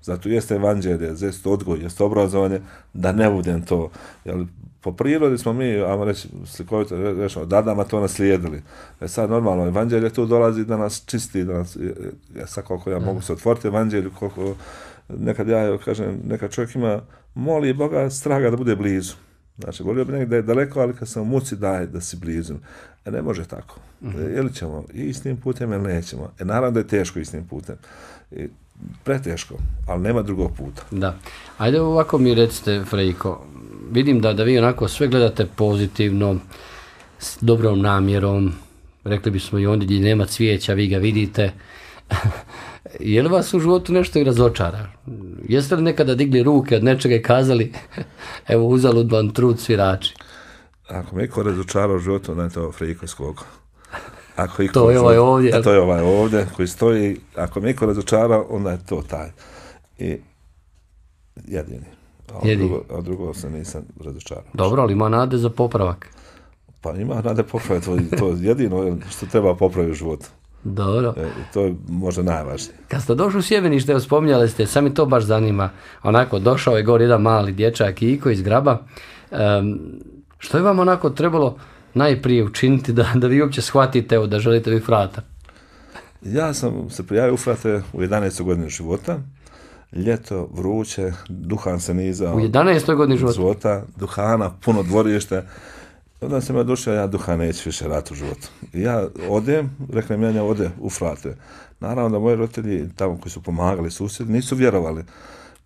Zato jeste evanđelje, jeste odgoj, jeste obrazovanje, da ne budem to. Jel, po prirodi smo mi, ajmo reći, slikovito rečemo, dadama to naslijedili. E sad normalno, evanđelje tu dolazi da nas čisti, da nas, ja sad koliko ja mogu se otvoriti evanđelju, koliko nekad ja kažem, nekad čovjek ima, moli Boga, straga da bude blizu. Znači, volio bi nekada da je daleko, ali kad sam u muci daje da si blizu. E ne može tako. Mm-hmm. E, ili ćemo i istim putem, ili nećemo. E naravno da je teško istim putem. I, preteško, ali nema drugog puta. Da. Ajde ovako mi recite, Frejko, vidim da, da vi onako sve gledate pozitivno, s dobrom namjerom, rekli bismo i ondje gdje nema cvijeća, vi ga vidite. Je li vas u životu nešto i razočara? Jeste li nekada digli ruke od nečega i kazali, evo uzalud vam trud svirači? Ako me iko razočara u životu, onda je to Frejko Skogo. Ako iko, to je ovaj ovdje. A to je ovaj ovdje koji stoji. Ako me iko razočara, onda je to taj. I jedini. A od, drugo, a drugo se nisam razočarao. Dobro, ali ima nade za popravak. Pa ima nade popravak. To, to je jedino što treba popraviti u životu. Dobro. E, to je možda najvažnije. Kad ste došli u Sjevenište, spominjali ste, sad mi to baš zanima. Onako, došao je gore jedan mali dječak Iko iz Graba. Um, što je vam onako trebalo najprije učiniti da, da vi uopće shvatite evo, da želite vi frata? Ja sam se prijavio u frate u jedanaestoj godini života. Ljeto, vruće, duhan se nizao. U jedanaestoj godini života? života? Duhana, puno dvorište. Onda sam ja došao, ja duhan neću više rati u životu. I ja odem, reknem ja ode u frate. Naravno da moji roditelji, tamo koji su pomagali susjedi, nisu vjerovali.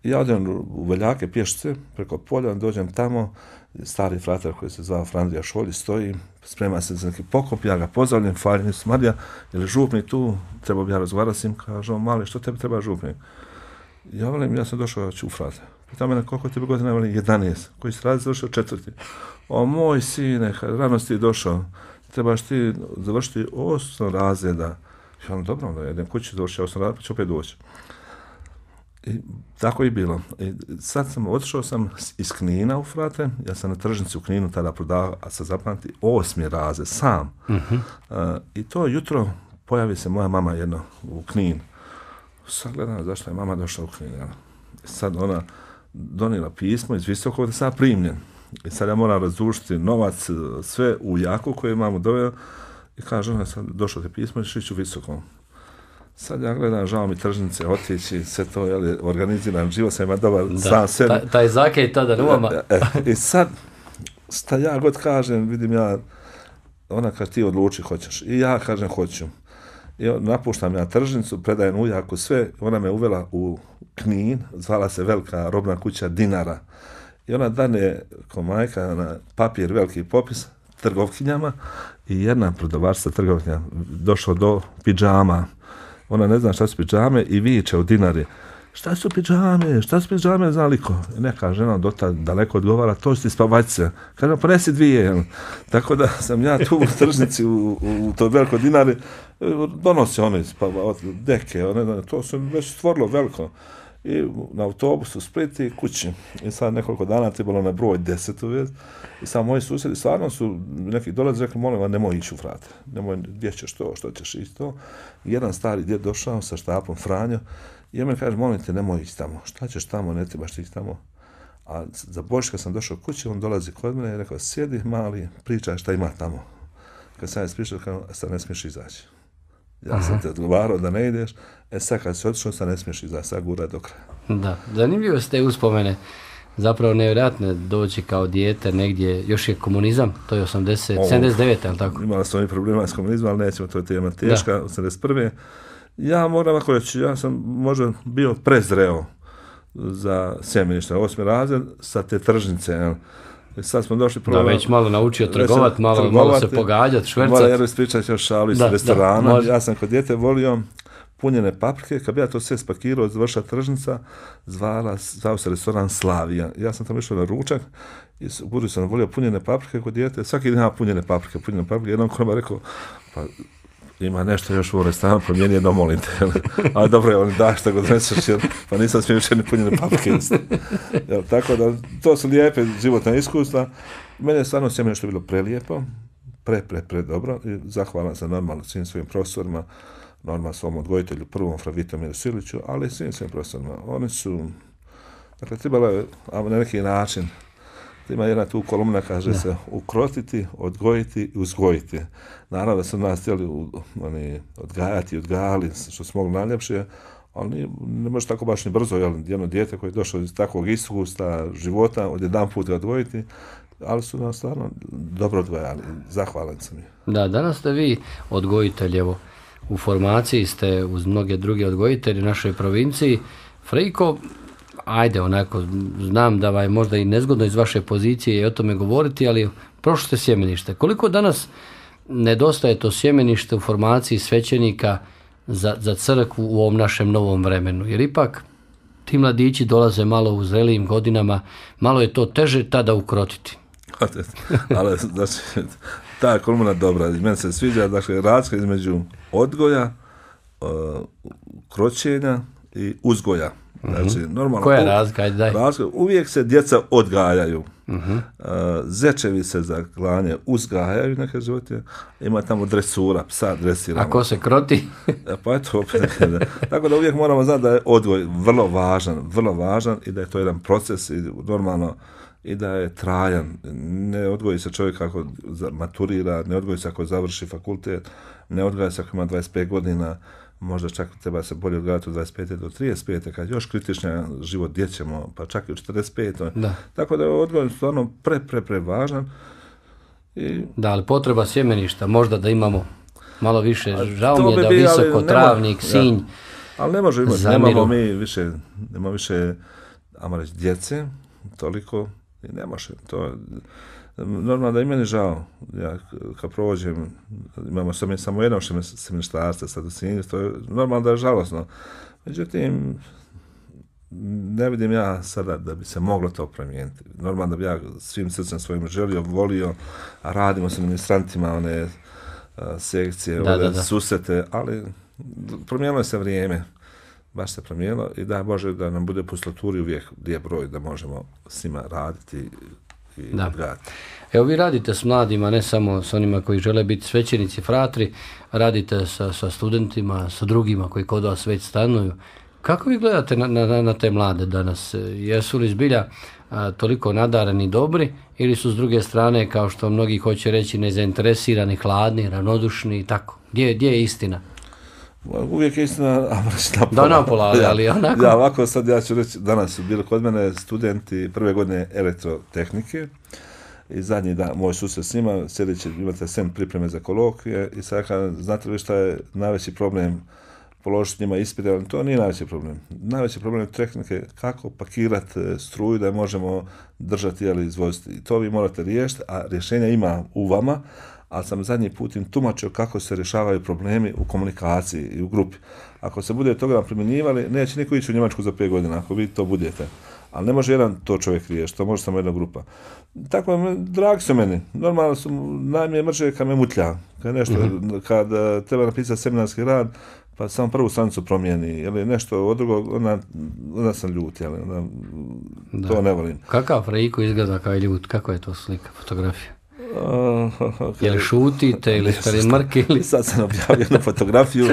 Ja odem u Veljake pješice, preko polja, dođem tamo, stari fratar koji se zvao Frandrija Šolji stoji, sprema se za neki pokop, ja ga pozdravljam, falim se, Marija, je li župnik tu, treba bi ja razgovarati s njim, kaže on, mali, što tebi treba župnik? Ja velim, ja sam došao ću u frate. Pita mene, koliko tebi godina, velim, jedanaest, koji se radi završio četvrti. O, moj sine, rano si ti došao, trebaš ti završiti osam razreda. Ja velim, dobro, onda jedem kući, završio osam razreda, pa ću opet doći. I tako je bilo. I sad sam, otišao sam iz Knina u frate, ja sam na tržnici u Kninu tada prodavao, a sad zapamti, osmi razred, sam. Uh-huh. Uh, I to jutro pojavi se moja mama jedno u Knin. Sad gledam zašto je mama došla u Knin. Ja. Sad ona donijela pismo iz Visokog da sam primljen. I sad ja moram razdušiti novac, sve u jaku koje imamo doveo. I kaže ona, sad došlo te pismo i šiću Visokom. Sad ja gledam, žao mi tržnice, otići, sve to, jel, organiziran život, sam ima dobar da, sam sebi. Taj, taj zakej tada numa. E, e, I sad, sta ja god kažem, vidim ja, ona kaže ti odluči hoćeš. I ja kažem hoću. I napuštam ja tržnicu, predajem ujaku sve, ona me uvela u Knin, zvala se velika robna kuća Dinara. I ona dane, ko majka, na papir, veliki popis, trgovkinjama i jedna prodavačica trgovkinja došla do pidžama. Ona ne zna šta su pidžame i viče u Dinari. Šta su pidžame? Šta su pidžame za liko? I neka žena dotad daleko odgovara, to su ti spavačice. Kaže, ponesi dvije. Tako da sam ja tu u tržnici u, u, u to veliko Dinari, donosi one spavačice, deke, one, to su već stvorilo veliko. I na autobusu Split i kući. I sad nekoliko dana trebalo na broj deset uvijek. I sad moji susjedi stvarno su neki dolazi rekli, molim vas, nemoj ići u frate. Nemoj, gdje ćeš to, što ćeš ići to. I jedan stari djed došao sa štapom Franjo i on mi kaže, molim te, nemoj ići tamo. Šta ćeš tamo, ne trebaš ići tamo. A za Božić kad sam došao kući, on dolazi kod mene i rekao, sjedi mali, pričaj šta ima tamo. Kad sam je spričao, kao, sad ne smiješ izaći. Ja Aha. sam te odgovarao da ne ideš, e sad kad si otišao, sad ne smiješ izaći, sad gura do kraja. Da, zanimljivo ste uspomene. Zapravo nevjerojatno doći kao dijete negdje, još je komunizam, to je osamdeset, sedamdeset devet, ali tako? Imala sam i problema s komunizmom, ali nećemo, to je tema teška, da. osamdeset prve. Ja moram ako reći, ja sam možda bio prezreo za sjemenište, osmi razred sa te tržnice, jel? Sad smo došli prvo... Da, već malo naučio trgovat, malo, trgovati, malo se pogađati, švercat. Moram jer ispričati još šalu iz restorana. Da, ja sam kod djete volio punjene paprike, kad bi ja to sve spakirao, završila tržnica, zvala, zvao se restoran Slavija. Ja sam tamo išao na ručak i u budu sam volio punjene paprike kod djete, svaki dan punjene paprike, punjene paprike. Jednom ko nam rekao, pa ima nešto još u restoranu, promijeni jedno, molim te. Ali dobro je, on da šta god neseš, jer, pa nisam smio više ni punjene paprike. Jel, tako da, to su lijepe životne iskustva. Mene je stvarno sjemenište bilo prelijepo, pre, pre, pre dobro. I zahvalan sam normalno svim svojim profesorima, normalno svom odgojitelju, prvom fra Vitomiru Siliću, ali svim svojim profesorima. Oni su, dakle, trebalo je na neki način, ima jedna tu kolumna, kaže da. se, ukrotiti, odgojiti i uzgojiti. Naravno da su nas htjeli oni, odgajati i odgajali, što smo mogli najljepše, ali ne, ne može tako baš ni brzo, jel, jedno dijete koje je došlo iz takvog iskustva života, od jedan put ga odgojiti, ali su nas stvarno dobro odgojali. Zahvalan sam je. Da, danas ste vi odgojitelj, evo, u formaciji ste uz mnoge druge odgojitelje u našoj provinciji. Frejko, ajde, onako, znam da je možda i nezgodno iz vaše pozicije i o tome govoriti, ali prošli ste sjemenište. Koliko danas nedostaje to sjemenište u formaciji svećenika za, za crkvu u ovom našem novom vremenu? Jer ipak ti mladići dolaze malo u zrelijim godinama, malo je to teže tada ukrotiti. Ali, znači, ta kolumna dobra, meni se sviđa, dakle, razlika između odgoja, uh, kroćenja i uzgoja. Znači, normalno, koja je razlika? Ajde, daj. Razlika, uvijek se djeca odgajaju. Uh-huh. Uh, zečevi se za klanje uzgajaju neke životinje. Ima tamo dresura, psa dresiramo. A ko se kroti? Pa je to opet. Tako da uvijek moramo znati da je odgoj vrlo važan, vrlo važan i da je to jedan proces i normalno i da je trajan. Ne odgoji se čovjek ako maturira, ne odgoji se ako završi fakultet, ne odgoji se ako ima dvadeset pet godina, možda čak treba se bolje odgledati od dvadeset pete do trideset pete, kad još kritičnija život djećemo, pa čak i u četrdeset pete. Da. Tako da je odgoj stvarno pre, pre, pre važan. I... Da, ali potreba sjemeništa, možda da imamo malo više, žao mi je da bi, visoko, travnik, sinj, ja. Ali ne može imati, nemamo mi više, nema više ajmo reći, djece, toliko i ne može. To, normalno da i meni žao, ja kad provođem, imamo samo, samo jednog seminarstva sad u Sinju, to je normalno da je žalosno. Međutim, ne vidim ja sada da bi se moglo to promijeniti. Normalno da bi ja svim srcem svojim želio, volio, a radimo sa ministrantima one a, sekcije, da, ove da, da. susrete, ali promijenilo se vrijeme. Baš se promijenilo i da Bože da nam bude po slaturi uvijek lijep broj da možemo s njima raditi i da. odgajati. Evo vi radite s mladima, ne samo s onima koji žele biti svećenici, fratri, radite sa, sa studentima, sa drugima koji kod vas već stanuju. Kako vi gledate na, na, na te mlade danas? Jesu li zbilja a, toliko nadareni i dobri ili su s druge strane, kao što mnogi hoće reći, nezainteresirani, hladni, ravnodušni i tako? Gdje, gdje je istina? Uvijek je istina, napola. Da, napola, ali onako. Ja, ovako sad ja ću reći, danas su bili kod mene studenti prve godine elektrotehnike i zadnji dan, moj susret s njima, sljedeći imate sem pripreme za kolokvije i sad kada, znate li šta je najveći problem položiti njima ispite, to nije najveći problem. Najveći problem je tehnike kako pakirati struju da je možemo držati ili izvoziti. I to vi morate riješiti, a rješenja ima u vama, ali sam zadnji put im tumačio kako se rješavaju problemi u komunikaciji i u grupi. Ako se bude toga primjenjivali, neće niko ići u Njemačku za pet godina, ako vi to budete. Ali ne može jedan to čovjek riješiti, to može samo jedna grupa. Tako, dragi su meni. Normalno su, najmije mrže kad me mutlja. Kad, nešto, mm-hmm. kad uh, treba napisati seminarski rad, pa samo prvu stranicu promijeni, ili nešto od drugog, onda, onda sam ljut, jel, onda, to ne volim. Kakav Frejko izgleda kao ljut? Kako je to slika, fotografija? Uh, okay. Je li šutite ili ste li mrke? Ili... Sad sam objavio jednu fotografiju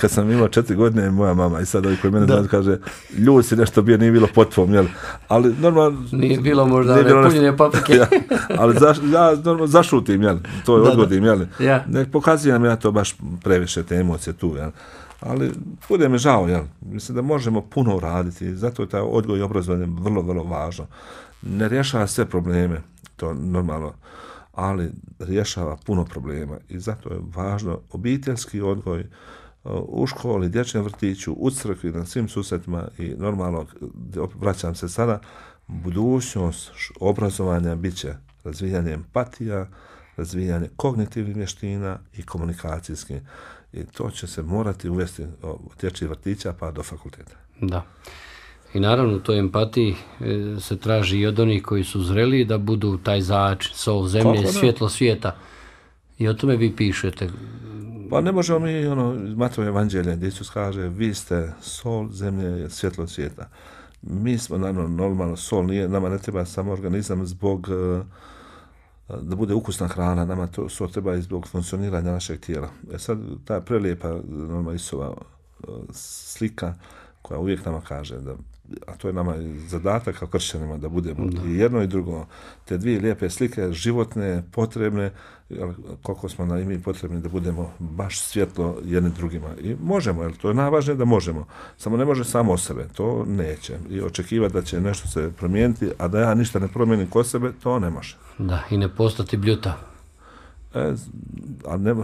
kad sam imao četiri godine, moja mama, i sad ovi koji mene znaju kaže, ljud si nešto bio, nije bilo po tvom, jel? Ali normalno... Nije bilo možda nije bilo punjenje nešto... paprike. Ja, ali za, ja normalno zašutim, jel? To je da, odgodim, jel? Ja. Ne pokazujem ja to baš previše, te emocije tu, jel? Ali bude mi žao, jel? Mislim da možemo puno uraditi, zato je taj odgoj i obrazovanje vrlo, vrlo važno. Ne rješava sve probleme, to normalno, ali rješava puno problema i zato je važno obiteljski odgoj u školi, dječjem vrtiću, u crkvi, na svim susretima i normalno, vraćam se sada, budućnost obrazovanja bit će razvijanje empatija, razvijanje kognitivnih vještina i komunikacijskih. I to će se morati uvesti od dječjih vrtića pa do fakulteta. Da. I naravno u toj empatiji e, se traži i od onih koji su zreli da budu taj začin, sol zemlje, svjetlo svijeta. I o tome vi pišete. Pa ne možemo mi, ono, iz Matova evanđelja, gdje Isus kaže, vi ste sol zemlje, svjetlo svijeta. Mi smo, naravno, normalno, sol nije, nama ne treba samo organizam zbog, da bude ukusna hrana, nama to sol treba i zbog funkcioniranja našeg tijela. E sad, ta prelijepa, normalno, Isova slika, koja uvijek nama kaže da, a to je nama zadatak kao kršćanima da budemo da. I jedno i drugo, te dvije lijepe slike, životne, potrebne, koliko smo na imi potrebni da budemo baš svjetlo jedni drugima. I možemo, jer to je najvažnije da možemo. Samo ne može samo o sebe, to neće. I očekivati da će nešto se promijeniti, a da ja ništa ne promijenim kod sebe, to ne može. Da, i ne postati bljuta. E, a ne...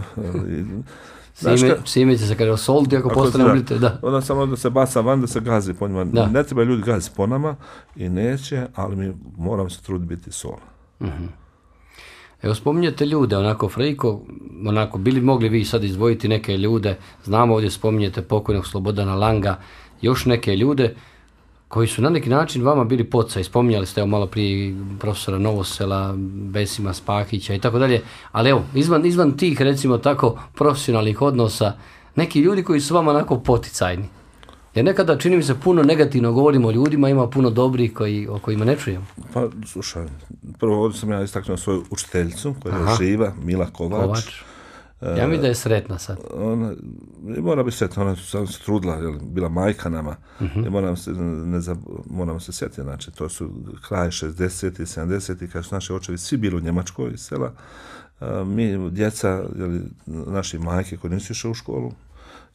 Sime, sime će se kada osoliti ako, ako postane oblite, da. Onda samo da se baca van, da se gazi po njima. Da. Ne treba ljudi gazi po nama i neće, ali mi moramo se truditi biti sol. Uh-huh. Evo spominjete ljude, onako Frejko, onako bili mogli vi sad izdvojiti neke ljude, znamo ovdje spominjete pokojnog Slobodana Langa, još neke ljude koji su na neki način vama bili poticaj. Spominjali ste evo malo prije profesora Novosela, Besima Spahića i tako dalje, ali evo, izvan, izvan tih recimo tako profesionalnih odnosa, neki ljudi koji su vama onako poticajni. Jer nekada čini mi se puno negativno govorimo o ljudima, ima puno dobrih koji, o kojima ne čujemo. Pa slušaj, prvo ovdje sam ja istaknuo svoju učiteljicu koja je živa, Mila Kovač. Kovač. Ja mi da je sretna sad. Ona, mora biti sretna, ona se trudila, jel, bila majka nama, uh-huh. i moram se, ne, moram se sjetiti, znači, to su kraj šezdesetih, sedamdesetih, kad su naši očevi svi bili u Njemačkoj iz sela, a, mi, djeca, jel, naši majke koji nisu išli u školu,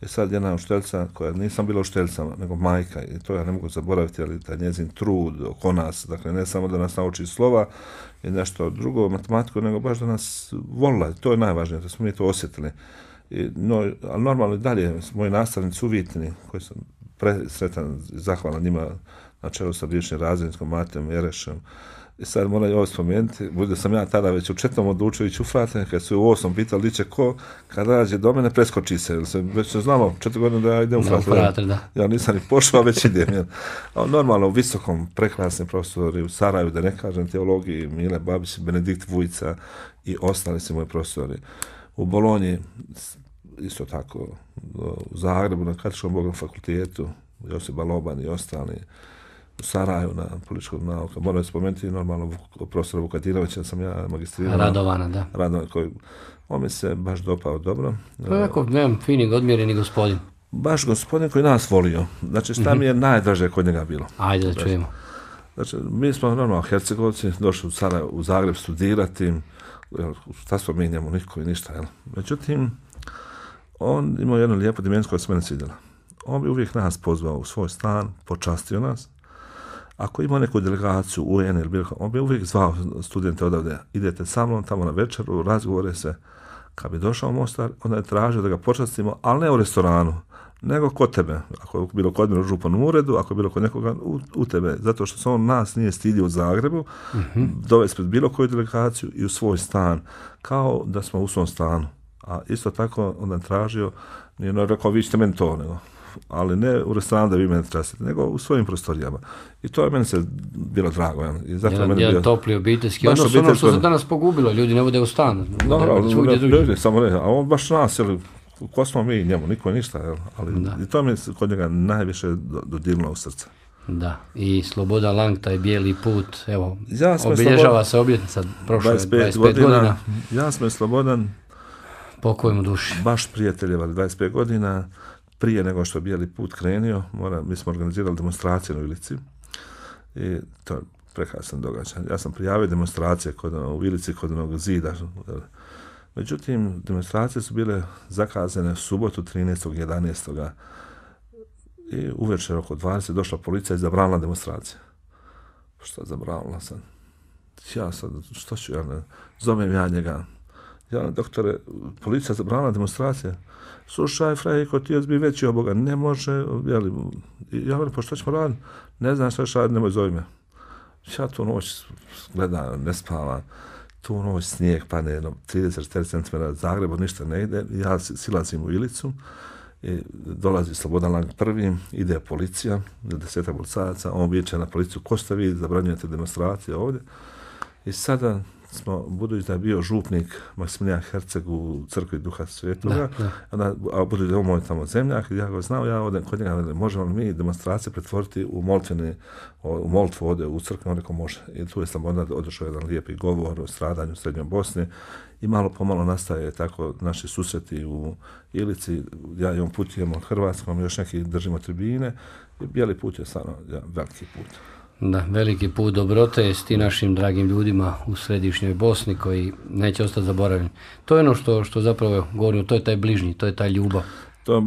je sad jedna učiteljica koja nisam bila učiteljica, nego majka, i to ja ne mogu zaboraviti, ali taj njezin trud oko nas, dakle ne samo da nas nauči slova i nešto drugo, matematiku, nego baš da nas volila, to je najvažnije, da smo mi to osjetili. I, no, ali normalno i dalje, moji nastavnici uvjetni, koji sam presretan i zahvalan njima na čelu sa bivšim razrednikom Matijom Jerešem. I sad moram i ovo spomenuti, bude sam ja tada već u četnom odlučio ići u frate, kad su u osam pitali li će ko, kad rađe do mene, preskoči se, jer se već se znamo četiri godine da ja idem u frate. Da, u frate, da. Ja nisam ni pošao, već idem. Jer, a normalno u visokom, prekrasni profesori u Sarajevu, da ne kažem teologiji, Mile Babić, Benedikt Vujica i ostali su moji profesori. U Bolonji, isto tako, u Zagrebu, na Katoličkom Bogom fakultetu, Josip Baloban i ostali, u Sarajevu na političkog nauka. Moram spomenuti normalno profesora Vukadirovića, sam ja magistrirao. Radovana, da. Radovana, koji, on mi se baš dopao dobro. To je jako, nemam, fini, odmjereni gospodin. Baš gospodin koji nas volio. Znači, šta mi je najdraže kod njega bilo? Ajde da čujemo. Znači, mi smo normalno Hercegovci, došli u Sarajevo, u Zagreb studirati, šta smo mi njemu, niko i ništa, jel? Međutim, on imao jednu lijepu dimenziju koja se mene svidjela. On bi uvijek nas pozvao u svoj stan, počastio nas. Ako ima neku delegaciju u U N ili bilo, on bi uvijek zvao studente odavde, idete sa mnom tamo na večeru, razgovore se. Kad bi došao u Mostar, onda je tražio da ga počastimo, ali ne u restoranu, nego kod tebe. Ako je bilo kod mene u županom uredu, ako je bilo kod nekoga u, u tebe. Zato što se on nas nije stidio u Zagrebu, mm-hmm. dovesti pred bilo koju delegaciju i u svoj stan, kao da smo u svom stanu. A isto tako onda je tražio, nije no, rekao, vi ćete meni to, nego, ali ne u restoranu da vi mene trasite, nego u svojim prostorijama. I to je meni se bilo drago. Ja. I zato jedan, meni jedan bio topli obiteljski odnos, ono što se danas pogubilo, ljudi ne vode u stan. No, no, no, ljudi, samo ne, a on baš nas, jel, ko smo mi njemu, niko ništa, jel, ali da. I to mi se kod njega najviše dodirnulo u srce. Da, i Slobodan Lang, taj bijeli put, evo, ja obilježava Slobodan, se obljetnica prošle dvadeset pet, dvadeset pet godina. godina. Ja sam Slobodan, pokojmu duši. Baš prijateljevali dvadeset pet godina, prije nego što je bijeli put krenio, mora, mi smo organizirali demonstracije u Ilici i to je prekrasan događaj. Ja sam prijavio demonstracije kod, u Ilici kod onog zida. Međutim, demonstracije su bile zakazane u subotu trinaestog jedanaestog i uvečer oko dvadeset došla policija i zabranila demonstracije. Što je zabranila sad? Ja sad, što ću ja ne? Zovem ja njega. Ja, doktore, policija zabranila demonstracije. Slušaj, Frejko, ti bi veći od Boga, ne može, jeli, ja velim, pa što ćemo raditi? Ne znam što ću raditi, nemoj zove me. Ja tu noć gledam, ne spavam, tu noć snijeg padne jedno trideset četrdeset centimetara Zagrebu, ništa ne ide, ja silazim u Ilicu, i dolazi Slobodan Lang prvim, ide policija, desetak policajaca, on viče na policiju, ko ste vi, zabranjujete demonstracije ovdje, i sada smo, budući da je bio župnik Maksimilijan Herceg u crkvi Duha Svetoga, onda, a budući da je on moj tamo zemljak, ja ga znao, ja odem kod njega, možemo li mi demonstracije pretvoriti u moltvene, u moltvu ovdje u crkvi, on rekao može. I tu je sam onda odešao jedan lijepi govor o stradanju u Srednjoj Bosni i malo pomalo nastaje tako naši susreti u Ilici, ja i on putujemo Hrvatskom, još neki držimo tribine i bijeli put je stvarno ja, veliki put. Da, veliki put dobrote s ti našim dragim ljudima u središnjoj Bosni koji neće ostati zaboravljeni. To je ono što, što zapravo govorimo, to je taj bližnji, to je taj ljubav. To,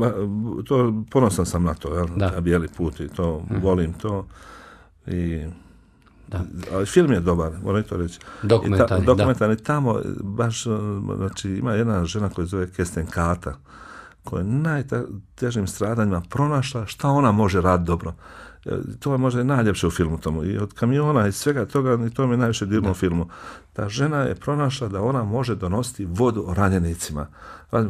to ponosan sam na to, jel? Na bijeli put i to, mm. volim to. I, da. Ali film je dobar, moram to reći. Dokumentarni, ta, dokumentarni da. Tamo, baš, znači, ima jedna žena koja zove Kesten Kata, koja je najtežim stradanjima pronašla šta ona može raditi dobro. To je možda i najljepše u filmu tomu. I od kamiona i svega toga, i to mi je najviše dirno u filmu. Ta žena je pronašla da ona može donositi vodu ranjenicima.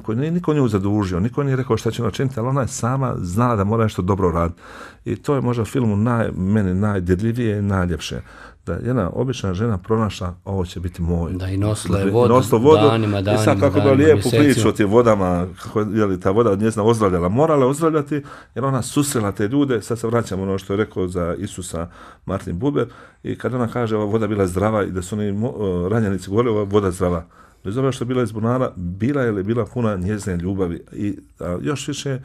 Koji nije niko nju zadužio, niko nije rekao šta će načiniti, ali ona je sama znala da mora nešto dobro raditi. I to je možda u filmu naj, meni najdirljivije i najljepše. Da jedna obična žena pronašla, ovo će biti moj. Da i nosila je vodu, vodu danima, danima, i sad kako da lijepu priču o tim vodama, kako je ta voda od njezina ozdravljala. Morala ozdravljati jer ona susrela te ljude, sad se vraćamo ono što je rekao za Isusa Martin Buber, i kad ona kaže ova voda bila zdrava i da su oni ranjenici govorili ova voda zdrava. Bez obzira što je bila iz bunara, bila je li bila puna njezine ljubavi. I a, još više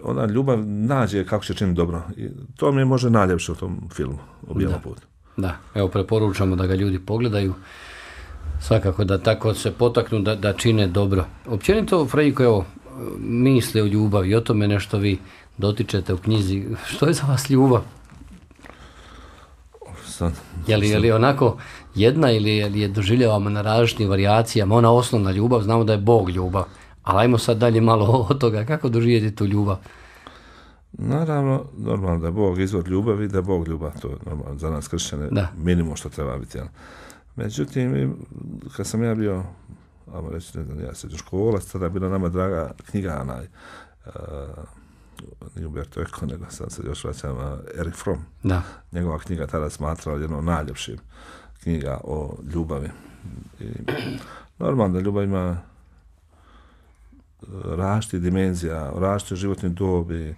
ona ljubav nađe kako će činiti dobro. I to mi je možda najljepše u tom filmu, u Bijelom putu. Da, evo preporučamo da ga ljudi pogledaju, svakako da tako se potaknu da, da čine dobro. Općenito, Frejko, evo, misle o ljubavi, i o tome nešto vi dotičete u knjizi. Što je za vas ljubav? Sad, je, li, je li onako jedna ili je, je doživljavamo na različitim varijacijama? Ona osnovna ljubav, znamo da je Bog ljubav, ali ajmo sad dalje malo od toga, kako doživjeti tu ljubav? Naravno, normalno da je Bog izvor ljubavi, da je Bog ljubav, to je normalno za nas kršćane, Da. minimum što treba biti. Jel? Međutim, kad sam ja bio, ajmo reći, ne znam, ja srednjoškolac, tada je bila nama draga knjiga, onaj, uh, nije Umberto Eco, nego sam se još vraćam, uh, Erich Fromm. Da. Njegova knjiga tada smatrala jedno od najljepših knjiga o ljubavi. I, normalno da ljubav ima različitih dimenzija, različitih životnih dobi,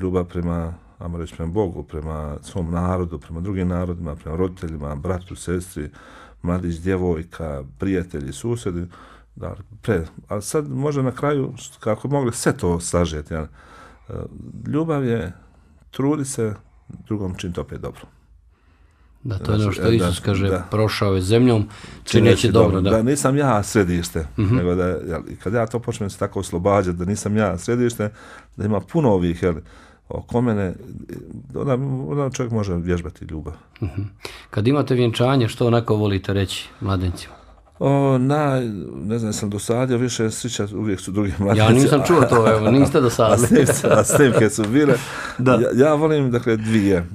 ljubav prema, ajmo reći, prema Bogu, prema svom narodu, prema drugim narodima, prema roditeljima, bratu, sestri, mladić, djevojka, prijatelji, susjedi. Da, pre, ali sad možda na kraju, kako mogli sve to sažeti, ja, ljubav je trudi se, drugom čini to opet dobro. Da, to je ono Znači, što Isus da, kaže, da. prošao je zemljom, čineći dobro. Da. Da nisam ja središte, Mhm. nego da, jel, kad ja to počnem se tako oslobađati, da nisam ja središte, da ima puno ovih, jel, oko mene, onda, onda čovjek može vježbati ljubav. Mhm. Kad imate vjenčanje, što onako volite reći mladencima? O, na, ne znam, sam dosadio više srića, uvijek su drugi mladenci. Ja nisam čuo to, evo, niste dosadili. A snimke, a snimke su bile. Da. Ja, ja volim, dakle, dvije.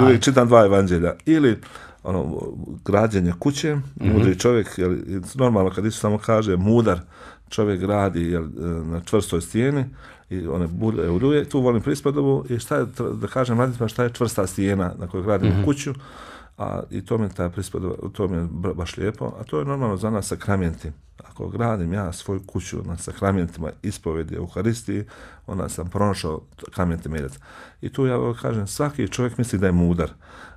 Uvijek čitam dva evanđelja. Ili ono, građenje kuće, mudri čovjek, jel, normalno kad Isus samo kaže mudar čovjek radi, jel, na čvrstoj stijeni i one bude uruje, tu volim prispodobu i šta je, da kažem mladicima, šta je čvrsta stijena na kojoj gradimo mm-hmm. kuću, a i to mi je ta prispodoba, to mi je baš lijepo, a to je normalno za nas sakramenti. Ako gradim ja svoju kuću na sakramentima ispovedi Euharistiji, onda sam pronašao kamen temeljac. I tu ja kažem, svaki čovjek misli da je mudar.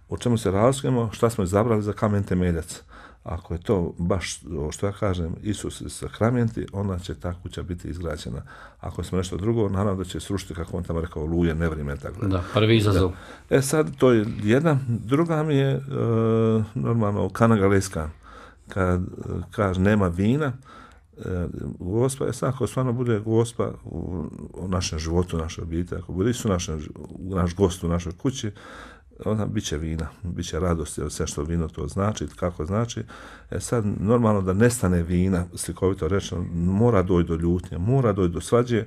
U čemu se razlikujemo, šta smo izabrali za kamen temeljac. Ako je to baš, što ja kažem, Isus i sakramenti, onda će ta kuća biti izgrađena. Ako smo nešto drugo, naravno da će srušiti, kako on tamo rekao, luje, nevrime, tako da. Da, prvi izazov. Da. E sad, to je jedna. Druga mi je, e, normalno, Kana Galejska. Kad kaže, nema vina, e, Gospa, je sad, ako stvarno bude Gospa u, u našem životu, u našoj obitelji, ako bude Isus našem, naš gost u našoj kući, onda bit će vina, bit će radost, jer sve što vino to znači, kako znači. E sad, normalno da nestane vina, slikovito rečeno, mora doći do ljutnje, mora doći do svađe,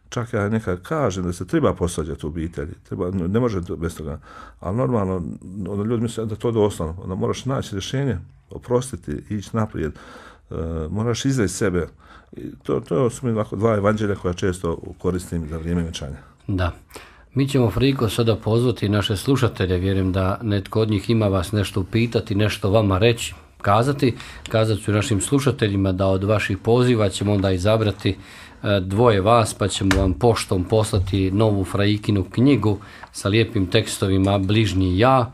čak ja nekad kažem da se treba posvađati u obitelji, treba, ne može bez toga, ali normalno, onda ljudi misle da to doslovno, onda moraš naći rješenje, oprostiti, ići naprijed, uh, moraš izreći sebe. I to, to su mi ovako dva evanđelja koja često koristim za vrijeme vjenčanja. Da. Mi ćemo, Friko, sada pozvati naše slušatelje, vjerujem da netko od njih ima vas nešto upitati, nešto vama reći, kazati. Kazat ću našim slušateljima da od vaših poziva ćemo onda izabrati dvoje vas, pa ćemo vam poštom poslati novu Frajikinu knjigu sa lijepim tekstovima Bližnji ja.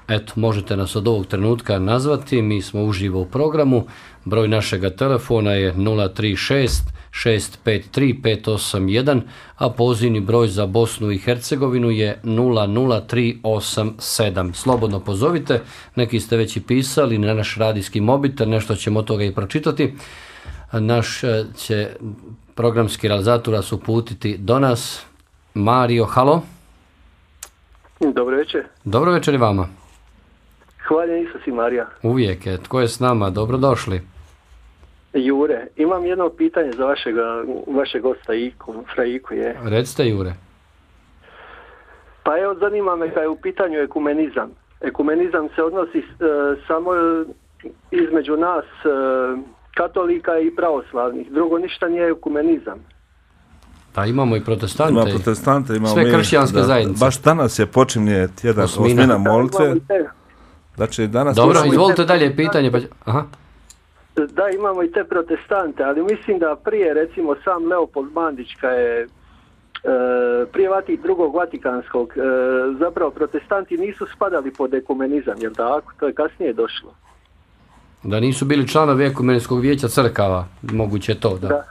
Eto, možete nas od ovog trenutka nazvati, mi smo uživo u programu. Broj našega telefona je nula tri šest šest pet tri pet osam jedan, a pozivni broj za Bosnu i Hercegovinu je nula nula tri osam sedam. Slobodno pozovite, neki ste već i pisali na naš radijski mobitel, nešto ćemo od toga i pročitati. Naš će programski realizator nas uputiti do nas. Mario, halo. Dobro večer. Dobro večer i vama. Hvaljen Isus i Marija. Uvijek je. Tko je s nama? Dobrodošli. Jure, imam jedno pitanje za vašega, vašeg gosta Iku, Fraiku je. Recite, Jure. Pa evo, zanima me kada je u pitanju ekumenizam. Ekumenizam se odnosi e, samo između nas e, katolika i pravoslavnih. Drugo, ništa nije ekumenizam. Pa imamo i protestante. Ima protestante, imamo sve mi, kršćanske da, zajednice. Baš danas je počinje tjedan Osmina. osmina molitve. Da, Znači, danas Dobro, počinje- izvolite dalje pitanje. Pa... Aha. da, imamo i te protestante, ali mislim da prije, recimo, sam Leopold Mandić, kad je e, prije Vati, drugog Vatikanskog, e, zapravo protestanti nisu spadali pod ekumenizam, jel tako? To je kasnije došlo. Da nisu bili članovi Ekumenskog vijeća crkava, moguće to, da. Da.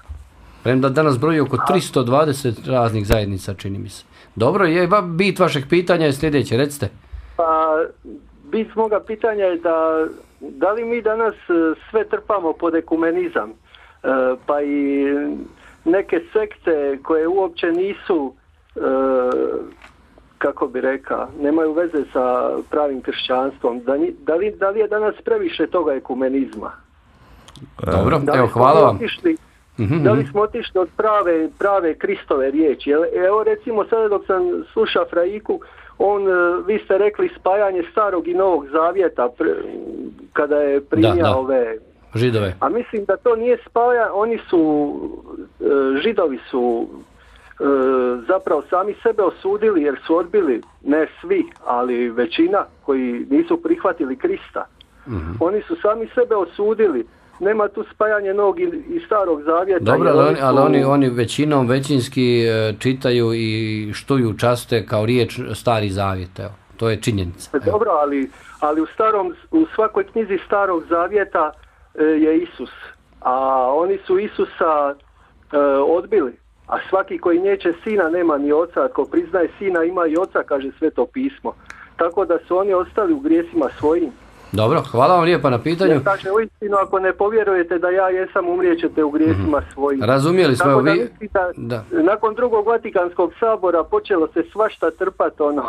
Premda danas broji oko tristo dvadeset raznih zajednica, čini mi se. Dobro, je bit vašeg pitanja je sljedeće, recite. Pa, bit moga pitanja je da, da li mi danas e, sve trpamo pod ekumenizam, e, pa i neke sekte koje uopće nisu, e, kako bi rekao, nemaju veze sa pravim kršćanstvom, da, ni, da, li, da li je danas previše toga ekumenizma? Dobro, Da li evo, smo hvala mi vam. otišli, Mhm, Da li mhm. smo otišli od prave, prave Kristove riječi? Jel- Evo recimo sada dok sam slušao Fraiku, on, e, vi ste rekli spajanje starog i novog zavjeta pre- kada je primio Da, da. ove... Židove. A mislim da to nije spaja, oni su, e, Židovi su e, zapravo sami sebe osudili jer su odbili, ne svi, ali većina koji nisu prihvatili Krista. Mhm. Oni su sami sebe osudili. Nema tu spajanje novog i, i starog zavjeta. Dobro, jer ali, oni, ali su- oni, oni većinom većinski e, čitaju i štuju časte kao riječ Stari Zavjet, evo. To je činjenica. Evo. Dobro, ali, ali u, starom, u svakoj knjizi starog zavjeta e, je Isus. A oni su Isusa e, odbili. A svaki koji neće sina nema ni oca. Ako priznaje sina ima i oca, kaže Sveto pismo. Tako da su oni ostali u grijesima svojim. Dobro, hvala vam lijepa na pitanju. Jer kaže uistinu, ako ne povjerujete da ja jesam, umrijećete u grijesima svojim. Razumijeli smo, Tako evo da vi... mislim da, Da. nakon drugog Vatikanskog sabora počelo se svašta trpati ono.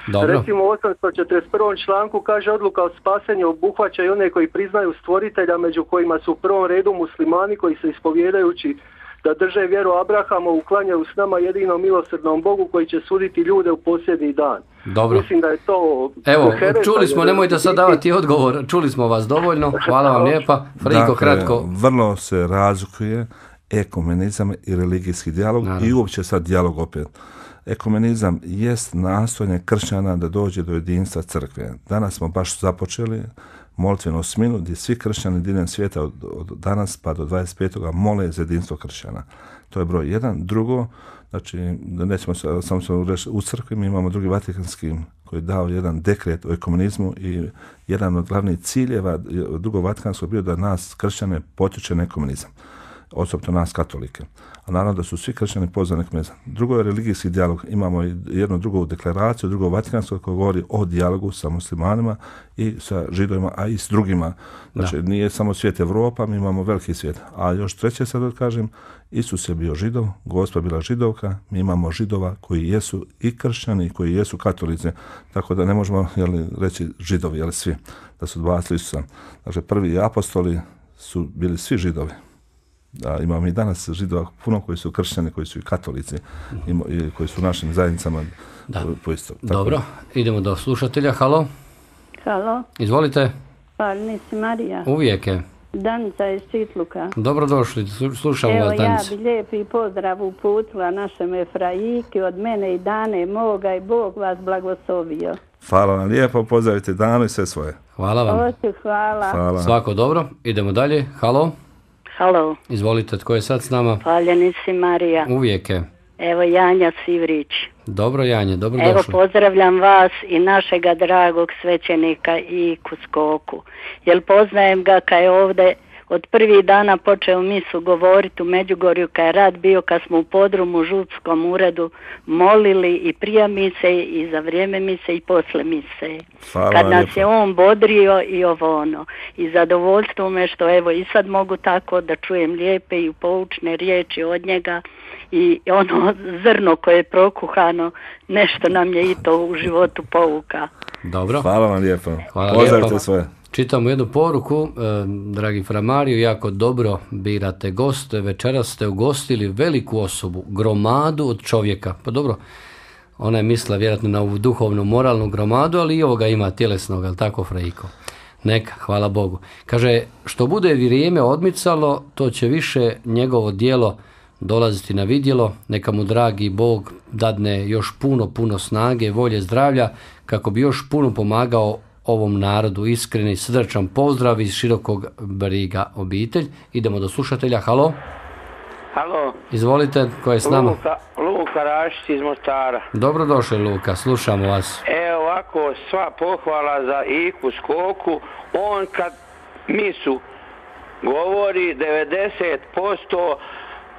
Dobro. Recimo u osamsto četrdeset prvom članku kaže odluka o spasenju obuhvaća i one koji priznaju stvoritelja, među kojima su u prvom redu muslimani koji se ispovjedajući da drže vjeru Abrahama uklanjaju s nama jedinom milosrdnom Bogu koji će suditi ljude u posljednji dan. Dobro. Mislim da je to Evo, hereza, čuli smo, jer- nemojte sad davati odgovor, čuli smo vas dovoljno, hvala vam lijepa. Friko, Dakle, kratko. vrlo se razlikuje ekumenizam i religijski dijalog Naravno. i uopće sad dijalog opet. Ekumenizam jest nastojanje kršćana da dođe do jedinstva crkve. Danas smo baš započeli molitvenu sminu gdje svi kršćani diljem svijeta od, od danas pa do dvadeset petog mole za jedinstvo kršćana. To je broj jedan. Drugo, znači, da nećemo sa- samo se reći u crkvi, mi imamo drugi Vatikanski koji je dao jedan dekret o ekumenizmu i jedan od glavnih ciljeva drugog Vatikanskog bio da nas kršćane potiče na ekumenizam, osobito nas katolike. A naravno da su svi kršćani pozvani na ekumenizam. Drugo je religijski dijalog. Imamo i jednu drugu deklaraciju, drugo Vatikansko koja govori o dijalogu sa muslimanima i sa židovima, a i s drugima. Znači, nije samo svijet Evropa, mi imamo veliki svijet. A još treće sad da kažem, Isus je bio židov, Gospa bila židovka, mi imamo židova koji jesu i kršćani i koji jesu katolici, tako da ne možemo jeli, reći židovi, jeli svi, da su odbacili Isusa. Znači, prvi apostoli su bili svi židovi. Da, imamo i danas židova puno koji su kršćani, koji su i katolici, ima- i koji su u našim zajednicama Da. po isto. Tako Dobro, da. idemo do slušatelja, halo, Halo, izvolite, pa nisi Marija, uvijek je. Danica iz Čitluka. Dobrodošli, slu- slušamo Evo vas, ja Danica. bi lijepi pozdrav uputila našem Efraiki od mene i Dane moga i Bog vas blagoslovio. Hvala vam lijepo, pozdravite Danu i sve svoje. Hvala vam. Oće, hvala. Hvala. Svako dobro, idemo dalje, halo, Halo, izvolite, tko je sad s nama? hvaljeni si Marija. Uvijek je. Evo Janja Sivrić. Dobro, Janje, Evo dobrodošli. pozdravljam vas i našega dragog svećenika i Kuskoku. Jer poznajem ga kad je ovdje od prvih dana počeo misu govoriti u Međugorju kad je rad bio, kad smo u podrumu u župskom uredu molili i prije mise i za vrijeme mise i posle mise. Hvala Kad vam nas lijepo. je on bodrio i ovo ono. I zadovoljstvo me što evo i sad mogu tako da čujem lijepe i poučne riječi od njega i ono zrno koje je prokuhano, nešto nam je i to u životu pouka. Dobro, Hvala vam lijepo. Hvala Pozdravite lijepo. svoje. čitamo jednu poruku, e, dragi fra Mario, jako dobro birate goste, večeras ste ugostili veliku osobu, gromadu od čovjeka. Pa dobro, ona je mislila vjerojatno na ovu duhovnu, moralnu gromadu, ali i ovoga ima tjelesnog, ali tako, Frejko? Neka, hvala Bogu. Kaže, što bude vrijeme odmicalo, to će više njegovo djelo dolaziti na vidjelo, neka mu dragi Bog dadne još puno, puno snage, volje, zdravlja, kako bi još puno pomagao ovom narodu. Iskreni, srdačan pozdrav iz Širokog Briga obitelj. Idemo do slušatelja, halo, Halo, izvolite, ko je s nama? Luka, Luka Rašić iz Mostara. Dobrodošli, Luka, slušamo vas. Evo ovako, sva pohvala za Iku Skoku. On kad misu govori devedeset posto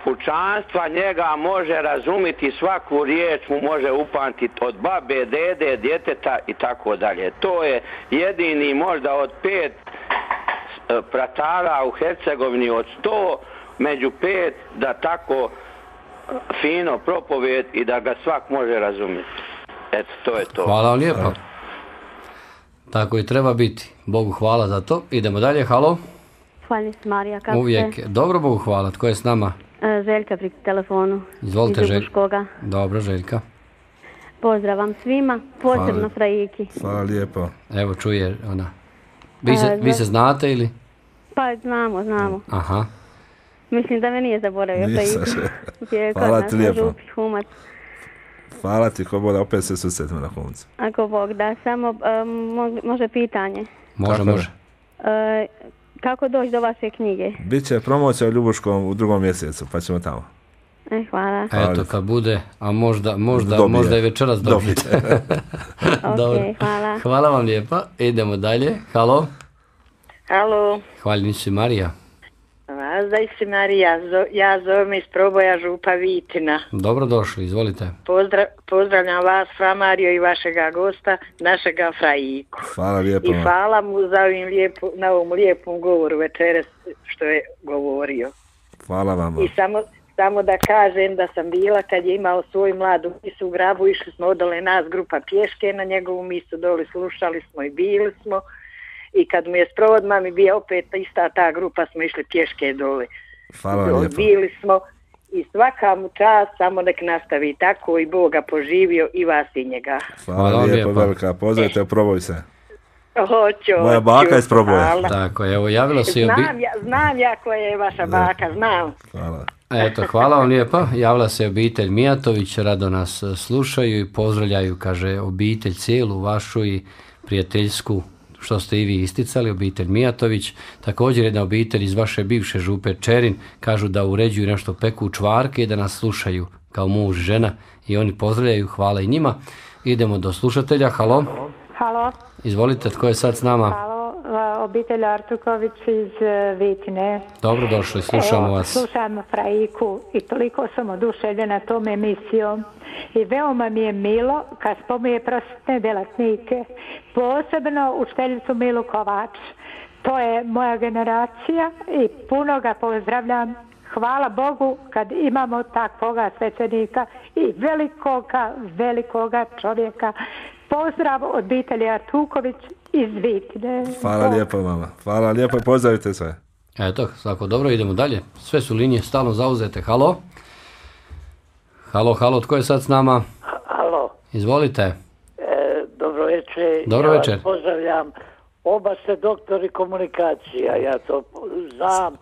pučanstva njega može razumjeti, svaku riječ mu može upamtiti od babe, dede, djeteta i tako dalje. To je jedini možda od pet e, pratara u Hercegovini od sto među pet da tako fino propovijed i da ga svak može razumjeti. Eto, to je to. Hvala vam lijepo. Tako i treba biti. Bogu hvala za to. Idemo dalje, halo. Hvala se Marija, kako Uvijek. ste? Dobro, Bogu hvala. Tko je s nama? E, Željka pri telefonu. Izvolite, iz Željka. Ljubuškoga. Dobro, Željka. Pozdrav vam svima, posebno Hvala. Frajiki. Hvala lijepo. Evo, čuje ona. Vi se, A, vi za- se znate ili? Pa znamo, znamo. Aha. Mislim da me nije zaboravio Nisam Frajiku. se. Je kod Hvala nas ti na lijepo. Župi Humac. Hvala ti, ko bude, opet se susretimo na Humcu. Ako Bog da, samo e, mo- može pitanje. Može, Kako je? može. E, kako doći do vaše knjige? Biće promocija u Ljubuškom u drugom mjesecu, pa ćemo tamo. E, hvala. Eto, kad bude, a možda, možda, Dobije. možda i večeras dobijete. Dobro. Ok, hvala. Hvala vam lijepa. Idemo dalje. Halo. Halo, Hvala si Marija. Vazdaj si Marija, zo, ja zovem iz Proboja Župa Vitina. Dobro došli, izvolite. Pozdra, pozdravljam vas, Fra Mario i vašega gosta, našega Frajiku. Hvala lijepo. I hvala mu za ovim lijepo, na ovom lijepom govoru večeras što je govorio. Hvala vam. I samo, samo da kažem da sam bila kad je imao svoju mladu misu u Grabu, išli smo odole nas grupa pješke na njegovu misu, dole slušali smo i bili smo. I kad mu je sprovod mami bio opet ista ta grupa, smo išli pješke dole. Hvala vam lijepo. Bili smo i svaka mu čast, samo nek nastavi tako i Boga poživio i vas i njega. Hvala Hvala lijepo, lijepo. velika. Pozdravite, proboj se. Hoću, Moja baka hoću, iz Proboja. hvala. Tako, evo, javila se i obi... Znam ja, znam ja koja je vaša baka, znam. Hvala. Eto, hvala vam lijepa. Javila se obitelj Mijatović, rado nas slušaju i pozdravljaju, kaže, obitelj cijelu vašu i prijateljsku, što ste i vi isticali, obitelj Mijatović. Također jedna obitelj iz vaše bivše župe Čerin, kažu da uređuju nešto, peku čvarke i da nas slušaju kao muž i žena i oni pozdravljaju, hvala i njima. Idemo do slušatelja, halo. Halo, Izvolite, tko je sad s nama? halo, a, obitelj Artuković iz e, Vitine. Dobro došli, slušamo Evo, vas. Slušam Frajiku i toliko sam oduševljena tom emisijom. I veoma mi je milo kad spominje prosvjetne delatnike, posebno učiteljicu Milu Kovač. To je moja generacija i puno ga pozdravljam. Hvala Bogu kad imamo takvoga svećenika i velikoga, velikoga čovjeka. Pozdrav od obitelji Artuković iz Vitine. Hvala lijepo vama. Hvala lijepo i pozdravite sve. Eto, svako dobro, idemo dalje. Sve su linije stalno zauzete. Halo? Halo, halo, tko je sad s nama? Halo, Izvolite. e, dobro večer. Dobro ja večer. Vas pozdravljam. Oba ste doktori komunikacija, ja to znam.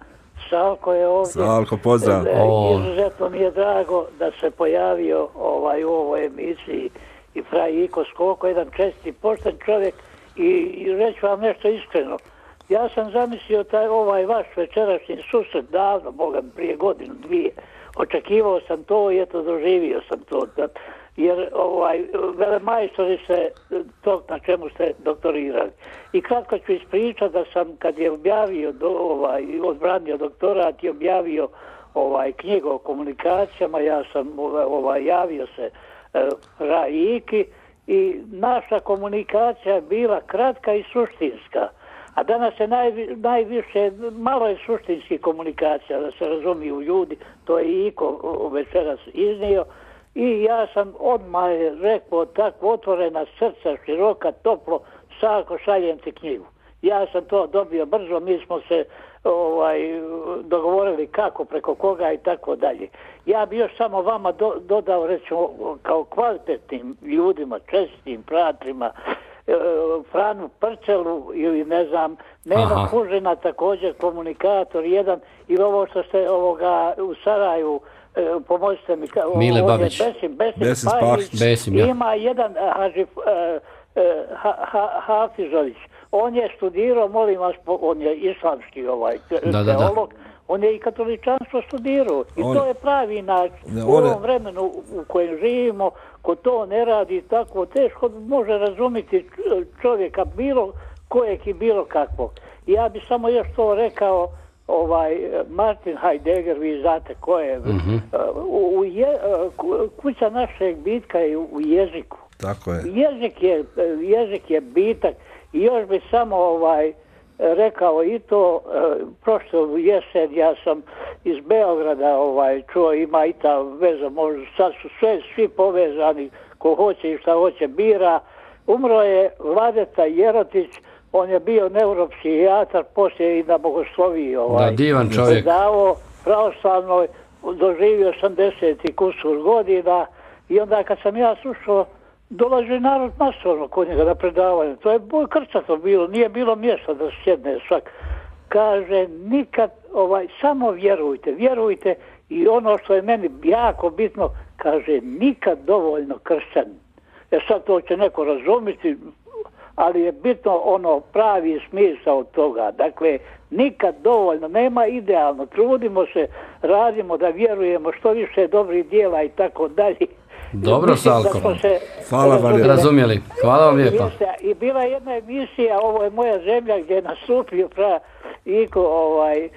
Salko je ovdje. Salko, pozdrav. E, O. Izuzetno mi je drago da se pojavio ovaj, u ovoj emisiji i Frajiko Skoko, jedan česti, pošten čovjek i, i reći vam nešto iskreno. Ja sam zamislio taj ovaj vaš večerašnji susret davno, Boga mi, prije godinu, dvije. Očekivao sam to i eto doživio sam to. Da, jer ovaj, velemajstori se to na čemu ste doktorirali. I kratko ću ispričati da sam kad je objavio, do, ovaj, odbranio doktorat i objavio ovaj, knjigu o komunikacijama, ja sam ovaj, javio se eh, Rajiki i naša komunikacija je bila kratka i suštinska. A danas je naj, najviše, malo je suštinski komunikacija, da se razumiju ljudi, to je Iko večeras iznio. I ja sam odmah rekao tako otvorena srca, široka, toplo, Sako, šaljem ti knjigu. Ja sam to dobio brzo, mi smo se ovaj, dogovorili kako, preko koga i tako dalje. Ja bi još samo vama do, dodao, recimo, kao kvalitetnim ljudima, čestim pratrima, Franu Prčelu ili ne znam, Neno Kužina, također komunikator jedan, i ovo što ste ovoga u Saraju, e, pomozite mi, Mile Babić. Besim, Besim, Besim Pajić, Besim, ja. ima jedan Haži, e, e, ha, ha, Hafizović, on je studirao, molim vas, on je islamski ovaj, da, da, teolog, da. On je i katoličanstvo studirao i on, to je pravi način. Ne, u ovom vremenu u kojem živimo, ko to ne radi tako, teško može razumjeti čovjeka bilo kojeg i bilo kakvog. Ja bi samo još to rekao, ovaj Martin Heidegger, vi znate ko je, mm-hmm. u, u je, kuća našeg bitka je u jeziku. Tako je. Jezik je, jezik je bitak i još bi samo ovaj rekao i to, e, prošlo jesen ja sam iz Beograda ovaj, čuo, ima i ta veza, možda sad su sve, svi povezani, ko hoće i šta hoće bira. Umro je Vladeta Jerotić, on je bio neuropsihijatar, poslije i na bogosloviji ovaj. Da, divan čovjek. Predavao pravoslavnoj, doživio osamdeset i kusur godina i onda kad sam ja slušao, dolazi narod masovno kod njega na predavanje. To je boj krcato bilo, nije bilo mjesta da sjedne svak. Kaže, nikad, ovaj, samo vjerujte, vjerujte i ono što je meni jako bitno, kaže, nikad dovoljno kršćan. E sad to će neko razumjeti, ali je bitno ono pravi smisao toga. Dakle, nikad dovoljno, nema idealno, trudimo se, radimo da vjerujemo što više dobrih dijela i tako dalje. Dobro, Salko. Hvala vam lijepa. Razumjeli. Hvala vam lijepa. I bila je jedna emisija, ovo je moja zemlja, gdje je nastupio pra Iko, ovaj,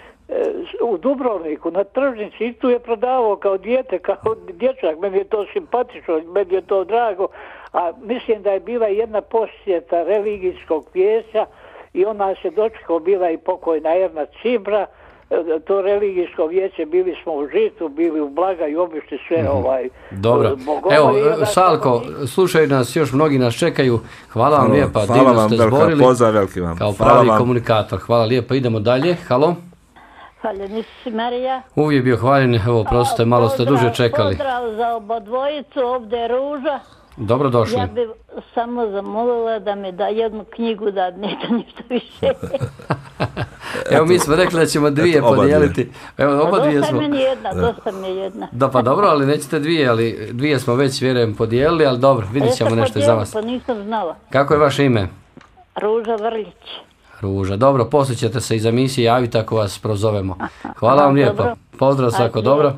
u Dubrovniku, na tržnici, i tu je prodavao kao dijete, kao dječak, meni je to simpatično, meni je to drago, a mislim da je bila jedna posjeta religijskog vijeća i ona se dočekao, bila i pokojna Erna Cibra, to religijsko vijeće, bili smo u Žitu, bili u Blaga i obišli sve mm-hmm. ovaj... Dobro. Bogova. Evo, Salko, slušaju nas, još mnogi nas čekaju. Hvala vam lijepa, hvala divno vam, ste velika, zborili. pozdrav, veliki vam. Kao Hvala pravi vam. komunikator. Hvala lijepa, idemo dalje. Halo? Hvaljeni si, Marija. Uvijek bio hvaljen, evo, prostite, malo ste duže čekali. Pozdrav za obodvojicu, ovdje je Ruža. Dobrodošli. Ja bih samo zamolila da mi da jednu knjigu, da neće ništa više. Evo, mi smo rekli da ćemo dvije eto, oba podijeliti. Evo, oba dosta dvije smo. meni jedna, dosta mi je jedna. Da, pa dobro, ali nećete dvije, ali dvije smo već, vjerujem, podijelili, ali dobro, vidit ćemo nešto za vas. Pa nisam znala. Kako je vaše ime? Ruža Vrljić. Ruža, dobro, poslije ćete se iz emisije javiti ako vas prozovemo. Hvala vam lijepo. Pozdrav, svako dobro.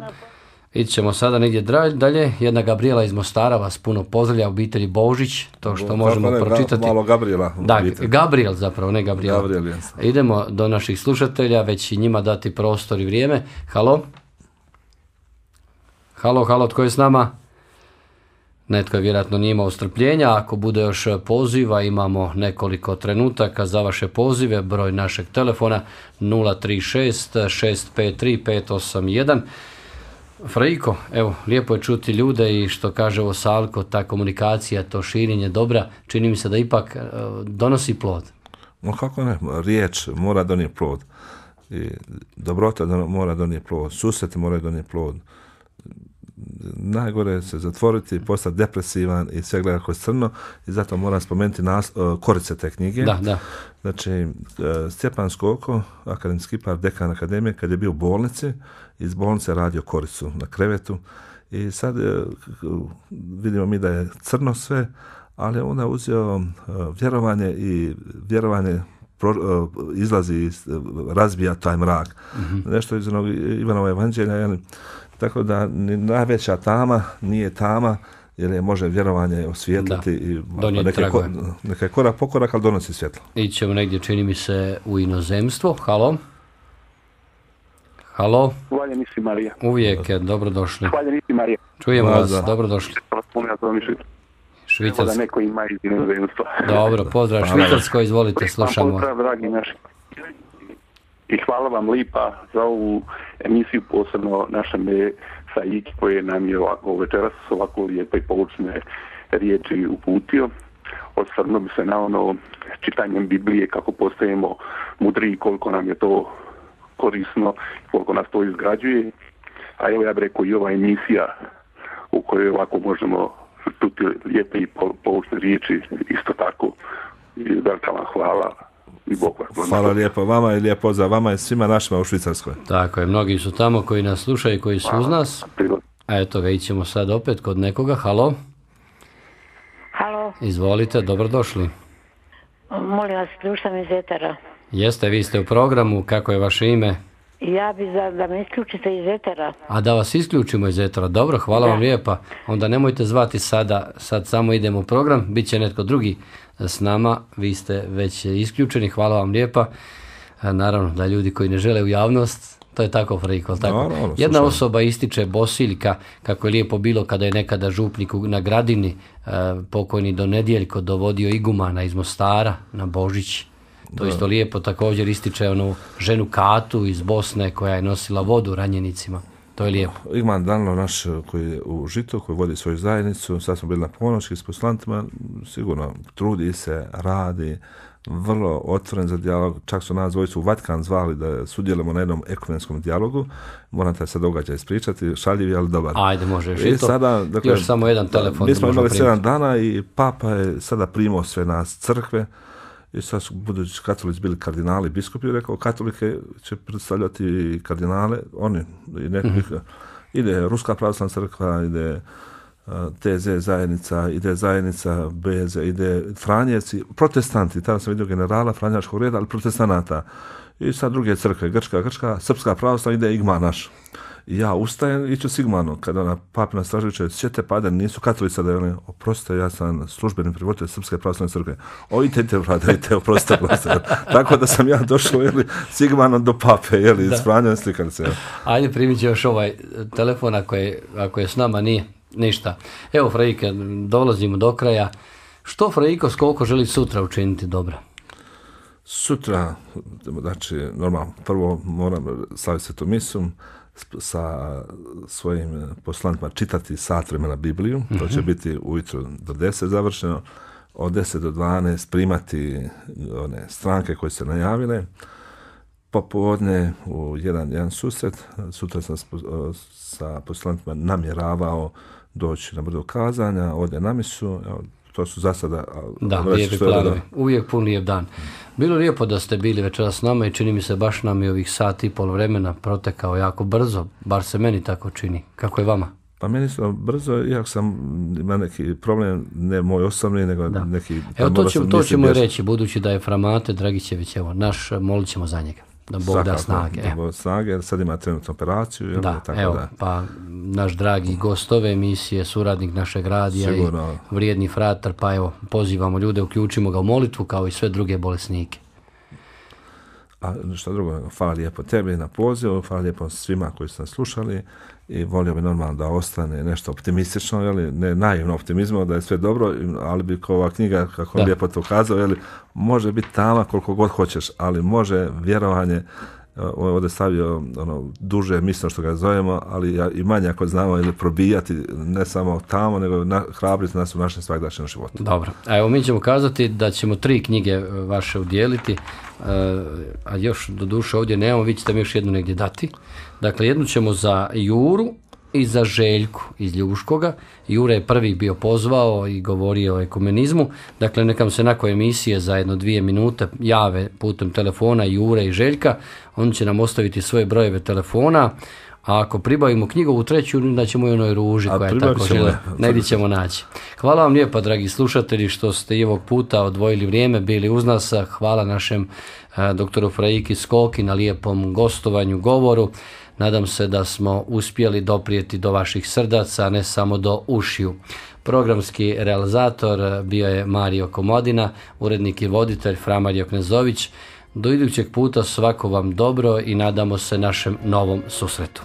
Ići ćemo sada negdje dalje. Jedna Gabriela iz Mostara vas puno pozdravlja, obitelji Božić, to što možemo ne, pročitati. Malo Gabriela. Da, Gabriel zapravo, ne Gabriela. Gabriel, jes. Idemo do naših slušatelja, već i njima dati prostor i vrijeme. Halo? Halo, halo, tko je s nama? Netko je vjerojatno nije imao strpljenja. Ako bude još poziva, imamo nekoliko trenutaka za vaše pozive. Broj našeg telefona nula tri šest šest pet tri pet osam jedan. Frejko, evo, lijepo je čuti ljude i što kaže ovo Salko, ta komunikacija, to širenje dobra, čini mi se da ipak uh, donosi plod. No kako ne, riječ mora donijeti plod. I dobrota mora donijeti plod, susreti moraju donijeti plod. Najgore je se zatvoriti, postati depresivan i sve gleda kroz crno i zato moram spomenuti nas, uh, korice te knjige. Da, da. Znači, uh, Stjepan Skoko, akademski par, dekan akademije, kad je bio u bolnici, iz bolnice radio koricu na krevetu i sad uh, vidimo mi da je crno sve, ali onda je uzeo uh, vjerovanje i vjerovanje pro, uh, izlazi, razbija taj mrak. Mm-hmm. Nešto iz onog Ivanova evanđelja, jel? Tako da ni najveća tama nije tama, jer je može vjerovanje osvijetliti i neka, ko, neka je korak po korak, ali donosi svjetlo. Ićemo negdje, čini mi se, u inozemstvo. Halo? Halo? Hvaljeni si, Marija. Uvijek, dobrodošli. Hvaljeni si, Marija. Čujemo vas, dobrodošli. Švicarsko. Da neko ima iz inozemstva. Dobro, pozdrav Švicarsko, izvolite, slušamo. Pozdrav, dragi naši. I hvala vam lipa za ovu emisiju, posebno našem Saiki koje nam je ovako večeras ovako lijepe i poučne riječi uputio. Osvrnuo bi se na ono čitanjem Biblije, kako postajemo mudri, koliko nam je to korisno, koliko nas to izgrađuje. A evo ja bih rekao i ova emisija u kojoj ovako možemo čuti lijepe i poučne riječi, isto tako. I velika vam hvala. I Bog vas. Hvala lijepo vama i lijep pozdrav vama i svima našima u Švicarskoj. Tako je, mnogi su tamo koji nas slušaju, koji su uz nas. A eto ga, ićemo sad opet kod nekoga. Halo? Halo? Izvolite, dobrodošli. Molim vas, slušam iz etera. Jeste, vi ste u programu, kako je vaše ime? Ja bi za, da me isključite iz etera. A da vas isključimo iz etera, dobro, hvala da. vam lijepa. Onda nemojte zvati sada, sad samo idemo u program, bit će netko drugi s nama, vi ste već isključeni, hvala vam lijepa. Naravno da ljudi koji ne žele u javnost, to je tako friko, tako. No, no, no, Jedna slušam. osoba ističe Bosiljka, kako je lijepo bilo kada je nekada župnik na Gradini, eh, pokojni do Nedjeljko dovodio igumana iz Mostara na Božić. To da. isto lijepo također ističe onu ženu Katu iz Bosne koja je nosila vodu ranjenicima. To je lijepo. Igman Danilo naš koji je u Žitu, koji vodi svoju zajednicu, sad smo bili na Ponoći s poslantima, sigurno trudi se, radi, vrlo otvoren za dijalog, čak su nas dvojicu u Vatikan zvali da sudjelujemo na jednom ekumenskom dijalogu, moram te se događaj ispričati, šaljiv, ali dobar. Ajde, možeš i, I to. sada, dakle, još samo jedan telefon. Mi smo imali sedam dana i Papa je sada primao sve nas crkve, i sad su budući katolici bili kardinali, biskupi, rekao, katolike će predstavljati kardinale, oni, i nekih, mm-hmm. ide Ruska pravoslavna crkva, ide uh, T Z zajednica, ide zajednica B Z, ide Franjevci, protestanti, tada sam vidio generala Franjačkog reda, ali protestanata. I sad druge crkve, Grčka, Grčka, Srpska pravoslavna, ide Igman naš. I ja ustajem i ću Sigmanu, kada ona Papina Straževića, sjete pade, nisu katolica da je oni, oprostite, ja sam službeni prevoditelj Srpske pravoslavne crkve. O, idete, brate, idete, oprostite, oprostite. Tako da sam ja došao, jeli, Sigmanom do Pape, jeli, s Franjom slikalice. Ajde, primit će još ovaj telefon, ako je, ako je s nama, nije ništa. Evo, Frajike, dolazimo do kraja. Što Frajiko Skoko želi sutra učiniti dobra? Sutra, znači, normalno, prvo moram slaviti svetu misu, sa svojim poslanicima čitati sat vremena Bibliju, mm-hmm. to će biti ujutro do deset završeno, od deset do dvanaest primati one stranke koje se najavile, popodne u jedan, jedan susret, sutra sam sa poslanicima namjeravao doći na brdo kazanja, ode na misu, evo, to su za sada... Da, lijepi planovi. Uvijek pun lijep dan. Bilo lijepo da ste bili večeras s nama i čini mi se baš nam i ovih sat i pol vremena protekao jako brzo, bar se meni tako čini. Kako je vama? Pa meni su brzo, iako sam ima neki problem, ne moj osobni, nego da. neki... Evo to, ćemo, to ćemo i reći, budući da je Framate Dragićević, evo, naš, molit ćemo za njega. Da Bog Svakako, da snage. Da Bog snage, sad ima trenutnu operaciju. Jel, da, tako evo, da. Pa naš dragi gost ove emisije, suradnik našeg radija Sigurno. I vrijedni fratar, pa evo, pozivamo ljude, uključimo ga u molitvu kao i sve druge bolesnike. A što drugo, hvala lijepo tebi na pozivu, hvala lijepo svima koji su nas slušali i volio bi normalno da ostane nešto optimistično, jeli, ne naivno optimizmo, da je sve dobro, ali bi kao ova knjiga, kako on lijepo to ukazao, jeli, može biti tama koliko god hoćeš, ali može vjerovanje, ovdje stavio ono, duže misno što ga zovemo, ali i manje ako znamo ili probijati ne samo tamo, nego na, hrabriti nas u našem svakdašnjem životu. Dobro, a evo mi ćemo kazati da ćemo tri knjige vaše udjeliti, a još do duše ovdje nemamo, vi ćete mi još jednu negdje dati. Dakle, jednu ćemo za Juru i za Željku iz Ljuškoga. Jure je prvi bio pozvao i govorio o ekumenizmu. Dakle, nekam se nakon emisije za jedno dvije minute jave putem telefona Jure i Željka. Oni će nam ostaviti svoje brojeve telefona. A ako pribavimo knjigovu treću, da ćemo i onoj Ruži koja je tako žele. Negdje ćemo naći. Hvala vam lijepa, dragi slušatelji, što ste i ovog puta odvojili vrijeme, bili uz nas. Hvala našem a, doktoru Frajiki Skoki na lijepom gostovanju, govoru. Nadam se da smo uspjeli doprijeti do vaših srdaca, ne samo do ušiju. Programski realizator bio je Mario Komodina, urednik i voditelj Fra Mario Knezović. Do idućeg puta svako vam dobro i nadamo se našem novom susretu.